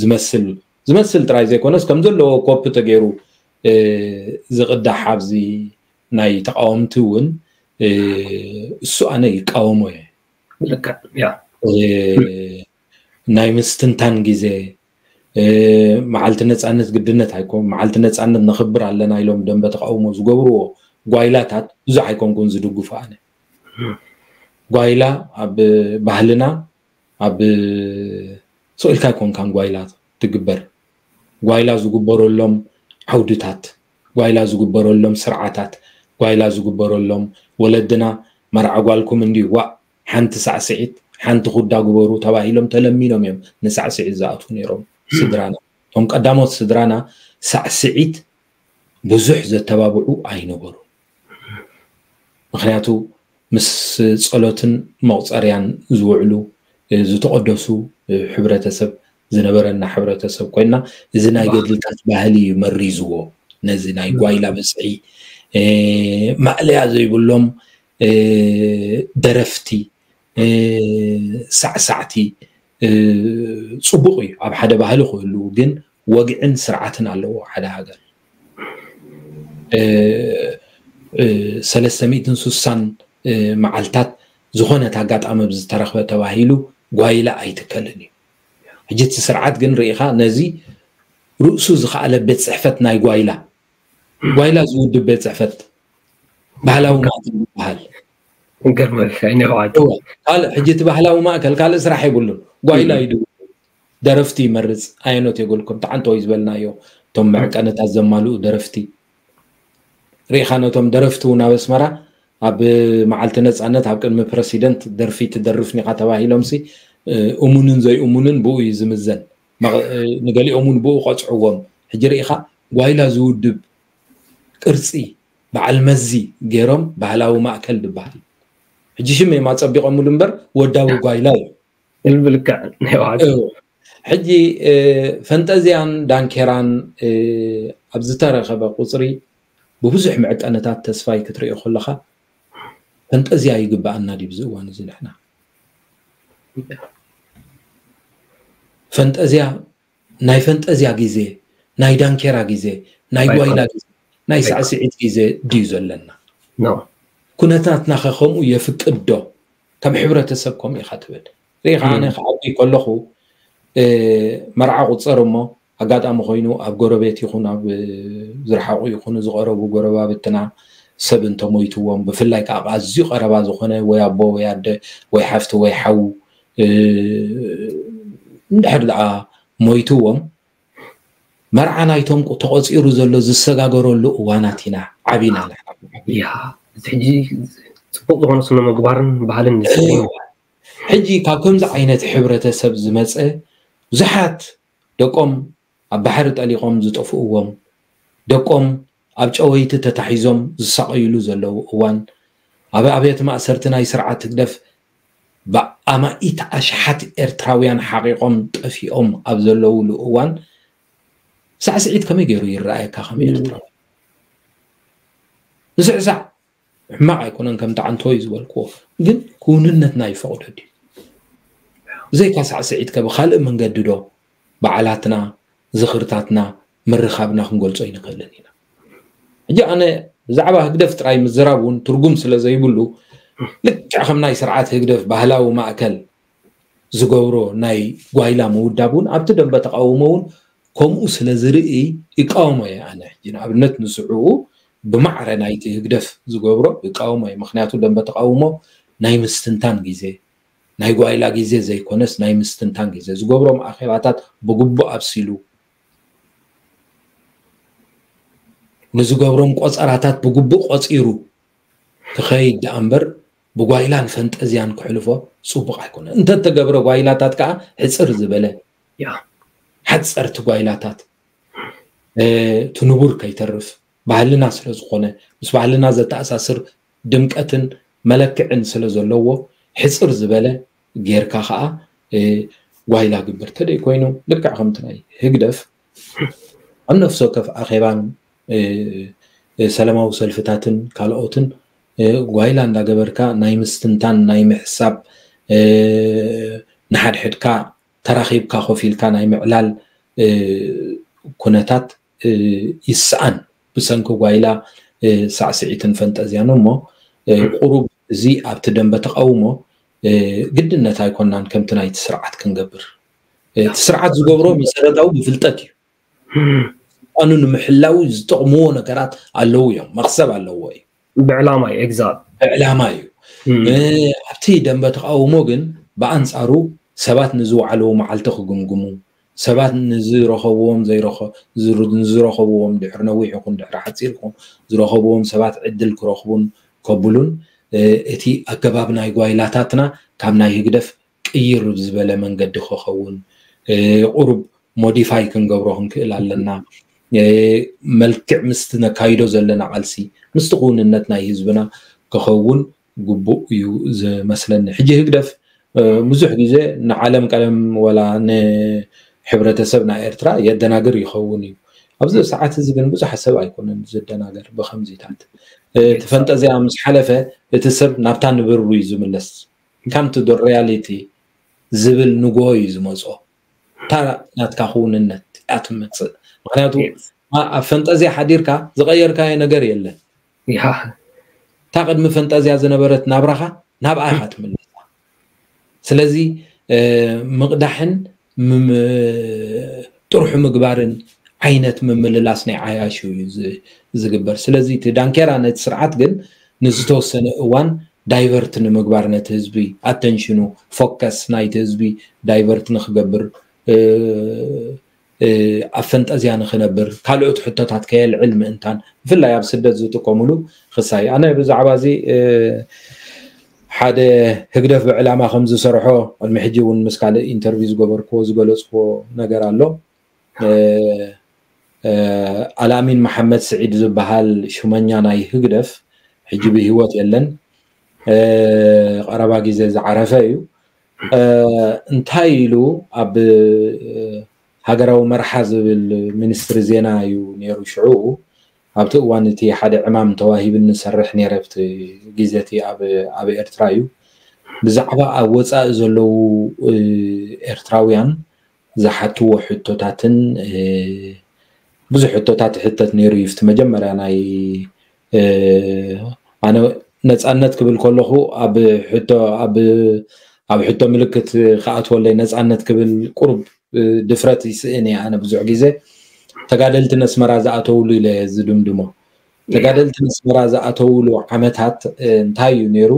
ዝመስል፣ ዝመስል ጥራይ ዘይኮነስ ከም ዘለዎ ኮፒ ተገይሩ፣ እ፣ ዝቕዳሕ ኣብዚ ናይ ተቓወምቲ እውን፣ እ፣ እሱ ኣነ ይቃወሞ እየ። ልክዕ፣ ያ። እ፣ ናይ ምስትንታን ግዜ፣ እ፣ መዓልቲ ነጻነት ግድነት ኣይኮን፣ መዓልቲ ነጻነት ነኽብር ኣለና ኢሎም ደንበ ተቓውሞ ዝገብርዎ ጓይላታት ብዙሕ ኣይኮንኩን ዝድግፎ ኣነ። ጓይላ ኣብ ባህልና፣ ኣብ ስቕ ኢልካ ኣይኮንካን ጓይላ ትግበር። ጓይላ ዝግበረሎም ዓውድታት፣ ጓይላ ዝግበረሎም ስርዓታት፣ ጓይላ ዝግበረሎም፣ ወለድና መርዓ ጓልኩም እንድዩ፣ ዋእ፣ ሓንቲ ሳዕስዒት፣ ሓንቲ ኩዳ ግበሩ ተባሂሎም ተለሚኖም እዮም ንሳዕስዒት ዝኣትዉ ነይሮም። ስድራና፣ እቶም ቀዳሞት ስድራና ሳዕስዒት ብዙሕ ዘተባብዑ ኣይነበሩን። ምኽንያቱ ምስ ጸሎትን መቑጸርያን ዝውዕሉ፣ እ፣ ዝተቐደሱ፣ እ፣ ሕብረተሰብ ዝነበረና ሕብረተሰብ ኮይና፣ እዚ ናይ ገድልታት ባህሊ እዩ መሪዝዎ። ነዚ ናይ ጓይላ ብዝሒ፣ እ፣ ማእለያ ዘይብሎም፣ እ፣ ደረፍቲ፣ እ፣ ሳዕሳዕቲ፣ እ፣ ጽቡቕ እዩ ኣብ ሓደ ባህሊ ክህሉ፣ ግን ወግዕን ስርዓትን ኣለዎ ሓደ ሃገር። እ፣ እ፣ ሰለስተ ሚእትን ስሳን፣ እ፣ መዓልታት ዝኾነት ኣጋጣሚ ብዝተረኽበ ተባሂሉ ጓይላ ኣይትከልን እዩ። ሕጂ እቲ ስርዓት ግን ርኢኻ ነዚ ርእሱ ዝኸኣለ ቤት ጽሕፈት ናይ ጓይላ፣ ጓይላ ዝውድብ ቤት ጽሕፈት ባህላዊ ማእከል ይበሃል። ይገርመካ፣ እኔ ኸዓ እወ፣ ካልእ ሕጂ እቲ ባህላዊ ማእከል ካልእ ስራሕ የብሉን። ጓይላ እዩ ድውድብ። ደረፍቲ ይመርጽ፣ ኣየኖት የገልኩም፣ ተዓንተወይ ዝበልናዮ፣ እቶም መዕቀንታት ዘማልኡ ደረፍቲ። ርኢኻ ነቶም ደረፍቲ እውን ኣብ ኣስመራ ኣብ መዓልቲ ነጻነት ኣብ ቅድሚ ፕረሲደንት ደርፊ ትደርፍ ኒኻ ተባሂሎምሲ፣ እ፣ እሙንን ዘይእሙንን ብኡ እዩ ዝምዘን። መቕ-፣ እ፣ ንገሊኦም እውን ብኡ ቀጽዕዎም። ሕጂ ርኢኻ ጓይላ ዝውድብ ቅርጺ በዓል መዚ ገይሮም ባህላዊ ማእከል ዝበሃል። ሕጂ ሽም እዮም ኣጸቢቖምሉ እምበር ወዳዊ ጓይላ እዩ። ልቢ ልክዕ ናይ ወሓት። እዎ። ሕጂ፣ እ፣ ፈንጠዝያን ዳንኬራን፣ እ፣ ኣብ ዝተረኸበ ቁጽሪ ብብዙሕ መዕቀንታት ተስፋይ ክትርእዮ ከለኻ ፈንጠዝያ ይግብኣና ድዩ ኣብዚ እዋን እዚ ንሕና? ፈንጠዝያ፣ ናይ ፈንጠዝያ ግዜ፣ ናይ ዳንኬራ ግዜ፣ ናይ ጓይላ ግዜ፣ ናይ ሳዕስዒት ግዜ ድዩ ዘለና? ኖ። ኩነታትና ኸ ከምኡ የፍቅድ ዶ? ከም ሕብረተሰብ ከምኡ ኢኻ ትብል። ሪኢኻ፣ ኣነ እም። ክዓቢ ከለኹ፣ እ፣ መርዓ ቁጸር እሞ፣ ኣጋጣሚ ኮይኑ ኣብ ጎረቤት ይኹን ኣብ፣ እ፣ ዝረሓቑ ይኹኑ ዝቐረቡ ጎረባብትና ሰብ እንተሞይትዎም፣ ብፍላይ ከዓ ኣዝዩ ቀረባ ዝኾነ ወይ ኣቦ ወይ ኣደ ወይ ሓፍቲ ወይ ሓው፣ እ፣ እንድሕር ደኣ ሞይትዎም፣ መርዓ ናይቶም ቁ-፣ ተቖጺሩ ዘሎ ዝሰጋገረሉ እዋናት ኢና ዓቢና ንሕና። ያ፣ እዚ ሕጂ ጽቡቕ ዝኾነ ስነ ምግባርን ባህልን ንስኒ። ሕጂ ካብ ከምዚ ዓይነት ሕብረተሰብ ዝመጸ ብዙሓት ደቆም ኣብ ባሕሪ ጠሊቖም ዝጠፍእዎም፣ ደቆም ኣብ ጨወይቲ ተታሒዞም ዝሳቐዩሉ ዘለዉ እዋን፣ ኣብ ኣብያተ ማእሰርቲ ናይ ስርዓት ህግደፍ ብኣማኢት ኣሽሓት ኤርትራውያን ሓቒቖም ጠፊኦም ኣብ ዘለዉሉ እዋን፣ ሳዕስዒት ከመይ ገይሩ ይረኣየካ ከም እም። ኤርትራዊ? ዝስዕሳዕ ሕማቕ ኣይኮነን፣ ከምቲ ዓንቶ እዩ ዝበልክዎ፣ ግን ክውንነትና ይፈቕዶ ድዩ? ብዘይካ ሳዕስዒት ከ ብኻልእ መንገዲ ዶ በዓላትና፣ ዝኽርታትና፣ ምርኻብና ክንገልጾ ኣይንኽእልን ኢና? ሕጂ ኣነ ብዛዕባ ህግደፍ ጥራይ ምዝራብ እውን ትርጉም ስለ ዘይብሉ፣ ልክዕ ከም ናይ ስርዓት ህግደፍ ባህላዊ ማእከል ዝገብሮ ናይ ጓይላ ምውዳብ እውን ኣብቲ ደንበ ተቓውሞ እውን ከምኡ ስለ ዝርኢ ይቃወሞ እየ ኣነ። ሕጂ ንኣብነት ንስዕኡ ብማዕረ ናይቲ ህግደፍ ዝገብሮ ይቃወሞ እየ። ምኽንያቱ ደንበ ተቓውሞ ናይ ምስትንታን ግዜ፣ ናይ ጓይላ ግዜ ዘይኮነስ ናይ ምስትንታን ግዜ፣ ዝገብሮም ኣኼባታት ብግቡእ ኣብሲሉ፣ ንዝገብሮም ቆፀራታት ብግቡእ ቆፂሩ ክኸይድ ደኣ እምበር ብጓይላን ፈንጠዝያን ክሕልፎ ፅቡቕ ኣይኮነን። እንተተገብረ ጓይላታት ከዓ ሕፅር ዝበለ ሓፀርቲ ጓይላታት እቲ ንቡር ከይተርፍ ባህልና ስለ ዝኾነ ምስ ባህልና ዘተኣሳስር ድምቀትን መለክዕን ስለ ዘለዎ ሕፅር ዝበለ ጌርካ ከዓ ጓይላ ግበር። ተደይ ኮይኑ ልክዕ ከምቲ ናይ ህግደፍ ኣብ ነፍሲ ወከፍ ኣኼባን ሰላማዊ ሰልፍታትን ካልኦትን ጓይላ እንዳገበርካ ናይ ምስትንታን ናይ ምሕሳብ ንሓድሕድካ ተራኺብካ ኮፍ ኢልካ ናይ ምዕላል ኩነታት ይስኣን ብሰንኪ ጓይላ ሳዕስዒትን ፈንጠዝያን እሞ ቁሩብ እዚ ኣብቲ ደንበ ተቃውሞ ግድነት ኣይኮናን ከምቲ ናይቲ ስርዓት ክንገብር እቲ ስርዓት ዝገብሮ መሰረታዊ ብፍልጠት እዩ ስልጣኑ ንምሕላው ዝጠቕምዎ ነገራት ኣለዉ እዮም መኽሰብ ኣለዎ እዩ ብዕላማ እዩ exact ብዕላማ እዩ ኣብቲ ደንበ ተቃውሞ ግን ብኣንፃሩ ሰባት ንዝወዓልዎ መዓልቲ ክግምግሙ ሰባት ንዝረኸብዎም ዘይረኸ- ዝር- ንዝረኸብዎም ድሕሪ ነዊሕ ይኹን ድሕሪ ሓፂር ይኹን ዝረኸብዎም ሰባት ዕድል ክረኽቡን ከብሉን እቲ ኣገባብ ናይ ጓይላታትና ካብ ናይ ህግደፍ ቅይር ዝበለ መንገዲ ክኸውን ቁሩብ ሞዲፋይ ክንገብሮ ክንክእል ኣለና መልክዕ ምስቲ ነካይዶ ዘለና ቃልሲ ምስቲ ክውንነት ናይ ህዝብና ክኸውን ግቡእ እዩ ዝመስለኒ ሕጂ ህግደፍ ብዙሕ ግዜ ንዓለም ቀለም ወላ ንሕብረተሰብ ናይ ኤርትራ የደናግር ይኸውን እዩ ኣብዚ ሰዓት እዚ ግን ብዙሕ ሰብ ኣይኮነን ዝደናገር ብከምዚታት እቲ ፈንጠዝያ ምስ ሓለፈ እቲ ሰብ ናብታ ንብሩ እዩ ዝምለስ come to the reality ዝብል ንጎ እዩ ዝመፅኦ እታ ናትካ ክውንነት እያ ትመፅእ ምክንያቱ ኣብ ፈንጠዝያ ሓዲርካ ዝቀየርካዮ ነገር የለን እታ ቅድሚ ፈንጠዝያ ዝነበረት ናብራኻ ናብኣ ኢኻ ትምለሳ ስለዚ ምቕዳሕን ጥርሑ ምግባርን ዓይነት ምምልላስ ናይ ዓያሹ እዩ ዝግበር ስለዚ እቲ ዳንኬራ ነቲ ስርዓት ግን ንዝተወሰነ እዋን ዳይቨርት ንምግባር ነቲ ህዝቢ ኣተንሽኑ ፎከስ ናይቲ ህዝቢ ዳይቨርት ንክገብር ኣብ ፈንጠዝያ ንክነብር ካልኦት ሕቶታት ከየልዕል ምእንታን ብፍላይ ኣብ ስደት ዝጥቀምሉ ክሳይ ኣነ ብዛዕባ እዚ ሓደ ህግደፍ ብዕላማ ከም ዝሰርሖ ቅድሚ ሕጂ እውን ምስ ካልእ ኢንተርቪው ዝገበርክዎ ዝገለፅክዎ ነገር ኣሎ ኣልኣሚን መሓመድ ስዒድ ዝበሃል ሽመኛ ናይ ህግደፍ ሕጂ ብህይወት የለን ቀረባ ግዜ ዝዓረፈ እዩ እንታይ ኢሉ ኣብ ሃገራዊ መርሓ ዝብል ሚኒስትሪ ዜና እዩ ነይሩ ሽዑ ኣብቲ እዋን እቲ ሓደ ዕማም ተዋሂብኒ ዝሰርሕ ነይረ ኣብቲ ግዜ እቲ ኣብ ኤርትራ እዩ ብዛዕባ ኣብ ወፃኢ ዘለዉ ኤርትራውያን ዝሓትዎ ሕቶታትን ብዙሕ ሕቶታት ይሕተት ነይሩ እዩ እቲ መጀመርያ ናይ ኣነ ነፃነት ክብል ከለኹ ኣብ ሕቶ ኣብ ኣብ ሕቶ ምልክት ክኣትወለይ ነፃነት ክብል ቁሩብ ድፍረት ይስእን እየ ኣነ ብዙሕ ግዜ ተጋደልቲ ነስመራ ዝኣተውሉ ኢለ ዝድምድሞ ተጋደልቲ ነስመራ ዝኣተውሉ ዓመታት እንታይ እዩ ነይሩ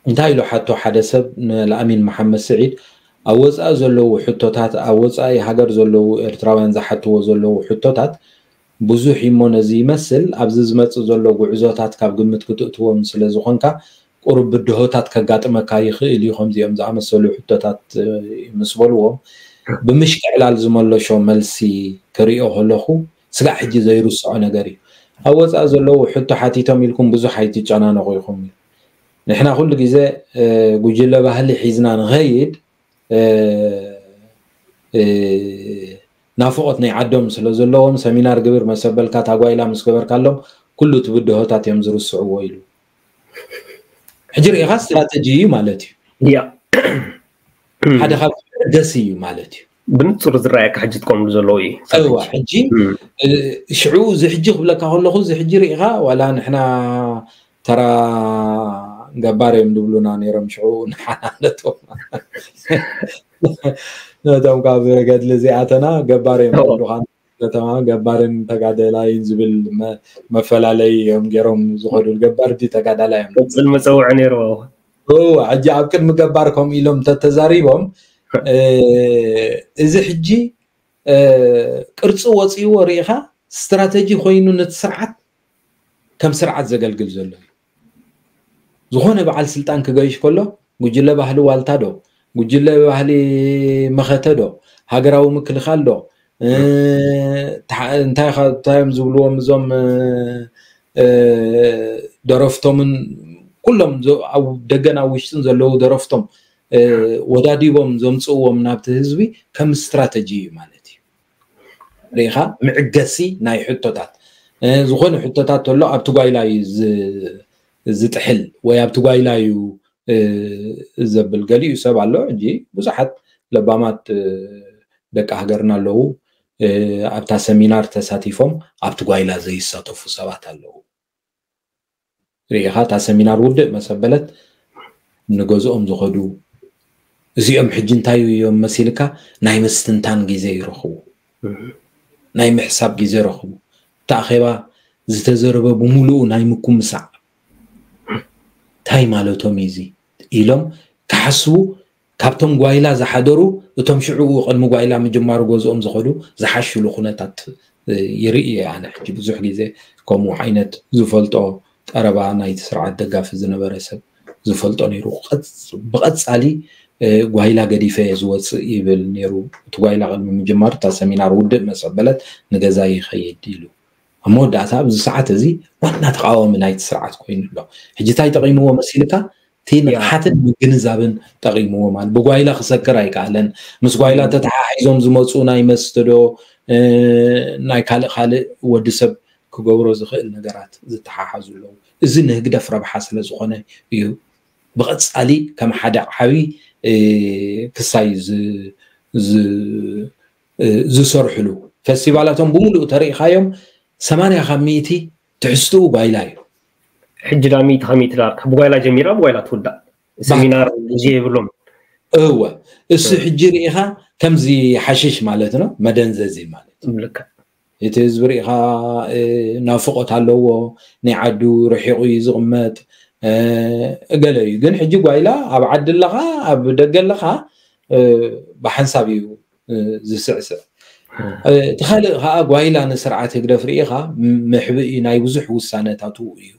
እንታይ ኢሉ ሓቶ ሓደ ሰብ ንልኣሚን መሓመድ ስዒድ ኣብ ወፃኢ ዘለዉ ሕቶታት ኣብ ወፃኢ ሃገር ዘለዉ ኤርትራውያን ዝሓትዎ ዘለዉ ሕቶታት ብዙሕ እሞ ነዚ ይመስል ኣብዚ ዝመፅእ ዘሎ ጉዕዞታት ካብ ግምት ክትእትዎም ስለ ዝኾንካ ቁሩብ ብድሆታት ከጋጥመካ ይኽእል እዩ ከምዚኦም ዝኣመሰሉ ሕቶታት ምስ በልዎም ብምሽክዕላል ዝመለሾ መልሲ ክሪኦ ከለኹ ስጋዕ ሕጂ ዘይርስዖ ነገር እዩ ኣብ ወፃኢ ዘለዉ ሕቶ ሓቲቶም ኢልኩም ብዙሕ ኣይትጨናነቑ ኢኹም እዩ ንሕና ኩሉ ግዜ ጉጅለ ባህሊ ሒዝና ንኸይድ ናፍቆት ናይ ዓዶም ስለ ዘለዎም ሰሚናር ግብር መሰበልካ ታጓይላ ምስ ገበርካሎም ኩሉ እቲ ብድሆታት እዮም ዝርስዕዎ ኢሉ ሕጂ ርኢኻ ስትራተጂ እዩ ማለት እዩ ሓደ ካብ ደስ እዩ ማለት እዩ ብንፁር ዝረኣየካ ሕጂ ትቆምሉ ዘለዉ እዩ እዋ ሕጂ ሽዑ እዚ ሕጂ ክብለካ ከለኹ እዚ ሕጂ ርኢኻ ዋላ ንሕና ተራ ገባር እዮም ዝብሉና ነይሮም ሽዑ ንሓናነቶም ነቶም ካብ ገድሊ እዚኣተና ገባር እዮም ዝብሉኻ ከተማ ገባርን ተጋደላይን ዝብል መፈላለይ እዮም ገይሮም ዝኸዱ ገባር ዲ ተጋዳላይ እዮም ቅፅል መፀውዒ ነይርዎ ሕጂ ኣብ ቅድሚ ገባር ከምኡ ኢሎም ተተዛሪቦም እዚ ሕጂ ቅርፂ ወፂእዎ ርኢኻ፣ ስትራተጂ ኮይኑ ነቲ ስርዓት ከም ስርዓት ዘገልግል ዘሎ እዩ። ዝኾነ በዓል ስልጣን ክገይሽ ከሎ ጉጅለ ባህሊ ዋልታ ዶ፣ ጉጅለ ባህሊ መኸተ ዶ፣ ሃገራዊ ምክልኻል ዶ፣ እንታይ እዮም ዝብልዎም እዞም ደረፍቶምን ኩሎም ኣብ ደገን ኣብ ውሽጥን ዘለዉ ደረፍቶም ወዳዲቦም ዘምፅእዎም ናብቲ ህዝቢ ከም ስትራተጂ እዩ ማለት እዩ። ርኢኻ፣ መዕገሲ ናይ ሕቶታት፣ ዝኾነ ሕቶታት ተሎ ኣብቲ ጓይላ እዩ ዝጥሕል ወይ ኣብቲ ጓይላ እዩ ዘብል። ገሊኡ ሰብ ኣሎ ሕጂ፣ ብዙሓት ለባማት ደቂ ሃገርና ኣለዉ፣ ኣብታ ሰሚናር ተሳቲፎም ኣብቲ ጓይላ ዘይሳተፉ ሰባት ኣለዉ። ርኢኻ፣ እታ ሰሚናር ውድእ መሰበለት ንገዝኦም ዝኸዱ እዚኦም ሕጂ እንታይ እዮም መሲልካ፣ ናይ ምስትንታን ግዜ ይረኽቡ፣ ናይ ምሕሳብ ግዜ ይረኽቡ። እቲ ኣኼባ ዝተዘረበ ብምሉኡ ናይ ምኩምሳዕ፣ እንታይ ማለቶም እዩ እዚ ኢሎም ክሓስቡ፣ ካብቶም ጓይላ ዝሓደሩ እቶም ሽዑ ቅድሚ ጓይላ ምጅማሩ ገዝኦም ዝኸዱ ዝሓሽሉ ኩነታት ይርኢ እየ። ኣነ ሕጂ ብዙሕ ግዜ ከምኡ ዓይነት ዝፈልጦ ቀረባ ናይቲ ስርዓት ደጋፊ ዝነበረ ሰብ ዝፈልጦ ነይሩ። ብቐፃሊ ጓይላ ገዲፈ እየ ዝወፅእ ይብል ነይሩ። እቲ ጓይላ ቅድሚ ምጅማሩ እታ ሰሚናር ውድእ መሰበለት ንገዛ ይኸይድ ኢሉ። ኣብ መወዳእታ ኣብዚ ሰዓት እዚ ዋና ተቃዋሚ ናይቲ ስርዓት ኮይኑ ኣሎ። ሕጂ እንታይ ጠቂምዎ መሲልካ? እቲ ንቕሓትን ምግንዛብን ጠቂምዎ ማለት ብጓይላ ክሰክር ኣይከኣለን። ምስ ጓይላ ተተሓሒዞም ዝመፁ ናይ መስተ ዶ ናይ ካልእ ካልእ ወዲ ሰብ ክገብሮ ዝኽእል ነገራት ዝተሓሓዙ ኣለዉ። እዚ ንህግደፍ ረብሓ ስለ ዝኾነ እዩ ብቐፃሊ ከም ሓደ ዓብዪ ክሳይ ዝሰርሕሉ። ፈስቲቫላቶም ብምሉእ ተሪኢኻዮም ሰማንያ ካብ ሚእቲ ትሕዝትኡ ጓይላ እዩ። ሕጂ ዳ ሚእቲ ካብ ሚእቲ ዳርካ ብጓይላ ጀሚራ ብጓይላ ትውዳእ። ሰሚናር ግዜ የብሎም። እወ፣ እሱ ሕጂ ርኢኻ ከምዚ ሓሽሽ ማለት ነው፣ መደንዘዚ ማለት። እቲ ህዝቢ ርኢኻ ናፍቆት ኣለዎ፣ ናይ ዓዱ ርሒቑ እዩ ዝቕመጥ፣ ገለ እዩ። ግን ሕጂ ጓይላ ኣብ ዓዲ ኣለኻ ኣብ ደገ ኣለኻ ብሓንሳብ እዩ ዝስዕስዕ። እቲ ካልእ ከዓ ጓይላ ንስርዓት ህግደፍ ርኢኻ መሕብኢ ናይ ብዙሕ ውሳነታቱ እዩ።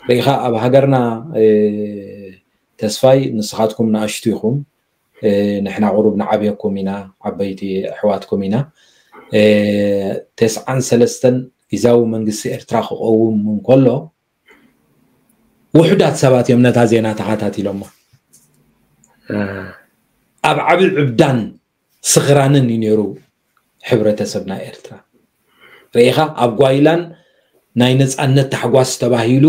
ርኢኻ ኣብ ሃገርና ተስፋይ ንስኻትኩም ንኣሽቱ ኢኹም፣ ንሕና ቁሩብ ንዓብየኩም ኢና፣ ዓበይቲ ኣሕዋትኩም ኢና። ተስዓን ሰለስተን ግዝያዊ መንግስቲ ኤርትራ ክቐውም እንከሎ ውሑዳት ሰባት እዮም ነታ ዜና ተኸታቲሎማ። ኣብ ዓቢ ዕብዳን ስኽራንን እዩ ነይሩ ሕብረተሰብና ኤርትራ። ርኢኻ ኣብ ጓይላን ናይ ነፃነት ታሕጓስ ተባሂሉ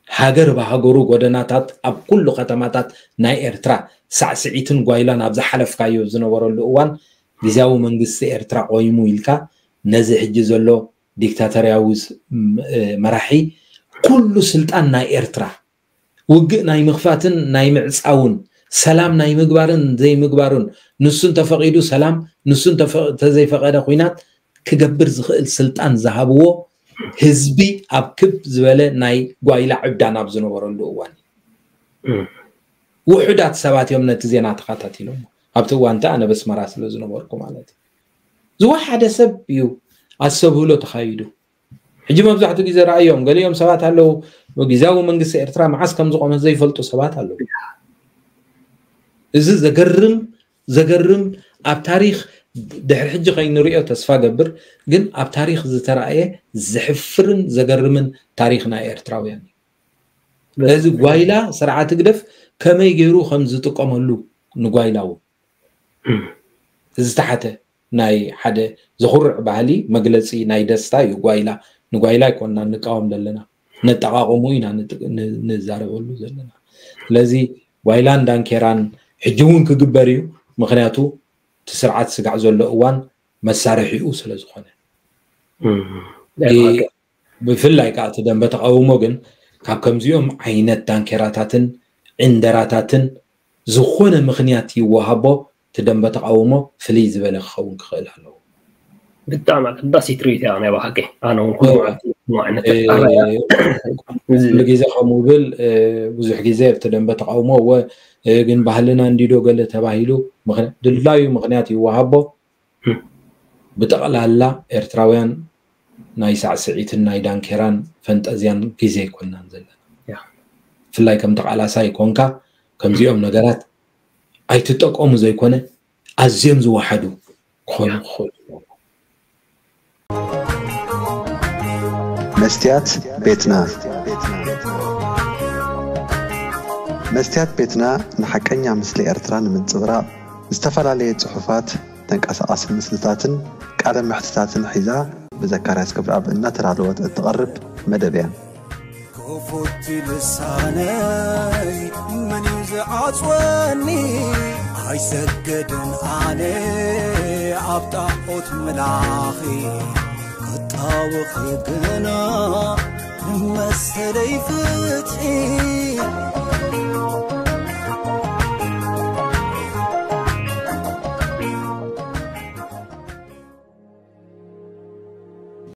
ሃገር ብሃገሩ ጎደናታት ኣብ ኩሉ ከተማታት ናይ ኤርትራ ሳዕስዒትን ጓይላን ኣብ ዝሓለፍካዮ ዝነበረሉ እዋን ግዝያዊ መንግስቲ ኤርትራ ቆይሙ ኢልካ ነዚ ሕጂ ዘሎ ዲክታተርያዊ መራሒ ኩሉ ስልጣን ናይ ኤርትራ ውግእ ናይ ምኽፋትን ናይ ምዕፃውን ሰላም ናይ ምግባርን ዘይምግባሩን ንሱ እንተፈቒዱ ሰላም ንሱ እንተዘይፈቐደ ኩናት ክገብር ዝኽእል ስልጣን ዝሃብዎ ህዝቢ ኣብ ክብ ዝበለ ናይ ጓይላ ዕብዳን ኣብ ዝነበረሉ እዋን ውሑዳት ሰባት እዮም ነቲ ዜና ተኸታቲሎም ኣብቲ እዋን ኣነ በስመራ ስለ ዝነበርኩ ማለት እዩ። ዝወሓደ ሰብ እዩ ኣስተብህሎ ተኻይዱ። ሕጂ መብዛሕትኡ ግዜ ረኣዮም ገሊኦም ሰባት ኣለዉ ግዝያዊ መንግስቲ ኤርትራ መዓስ ከም ዝቆመ ዘይፈልጡ ሰባት ኣለዉ። እዚ ዘገርም ዘገርም ኣብ ታሪኽ ድሕሪ ሕጂ ከይንሪኦ ተስፋ ገብር ግን ኣብ ታሪኽ ዝተረኣየ ዘሕፍርን ዘገርምን ታሪኽ ናይ ኤርትራውያን እዩ። ስለዚ ጓይላ ስርዓት ህግደፍ ከመይ ገይሩ ከም ዝጥቀመሉ ንጓይላ እውን ዝተሓተ ናይ ሓደ ዘኹርዕ ባህሊ መግለፂ ናይ ደስታ እዩ። ጓይላ ንጓይላ ኣይኮንና ንቃወም ዘለና ነጠቃቀሙ ኢና ንዛረበሉ ዘለና። ስለዚ ጓይላን ዳንኬራን ሕጂ እውን ክግበር እዩ። ምክንያቱ እቲ ስርዓት ስጋዕ ዘሎ እዋን መሳርሒኡ ስለ ዝኾነ ብፍላይ ከዓ እቲ ደንበ ተቃውሞ ግን ካብ ከምዚኦም ዓይነት ዳንኬራታትን ዕንደራታትን ዝኾነ ምክንያት ይወሃቦ እቲ ደንበ ተቃውሞ ፍልይ ዝበለ ክኸውን ክኽእል ኣለዎ። ብጣዕሚ ኣገዳሲት ርእይቶ እያ ናይ ብሓቂ። ኣነ እውን ኩሉ መዓልቲ ግዜ ከምኡ ብል ብዙሕ ግዜ ኣብቲ ደንበ ተቃውሞ እወ ግን ባህልና እንዲዶ ገለ ተባሂሉ ድላዩ ምክንያት ይወሃቦ ብጠቕላላ ኤርትራውያን ናይ ሳዕስዒትን ናይ ዳንኬራን ፈንጠዝያን ግዜ ኣይኮናን ዘለና። ብፍላይ ከም ተቓላሳይ ኮንካ ከምዚኦም ነገራት ኣይትጠቀሙ ዘይኮነ ኣዝዮም ዝወሓዱ ክኾኑ ክኽእሉ። መስትያት ቤትና። መስትያት ቤትና ንሓቀኛ ምስሊ ኤርትራ ንምንጽብራቕ ዝተፈላለየ ጽሑፋት፣ ተንቀሳቓሲ ምስልታትን ቃለ መሕትታትን ሒዛ ብዘካርያስ ገብረኣብ እናተዳለወት እትቐርብ መደብ እያ። ክፉት ልሳነይ መን እዩ ዝዓጽወኒ? ኣይሰገድን ኣነ ኣብ ጣዖት ምላኺ ክጣወኺ ግና ንመሰለይ ፍትሒ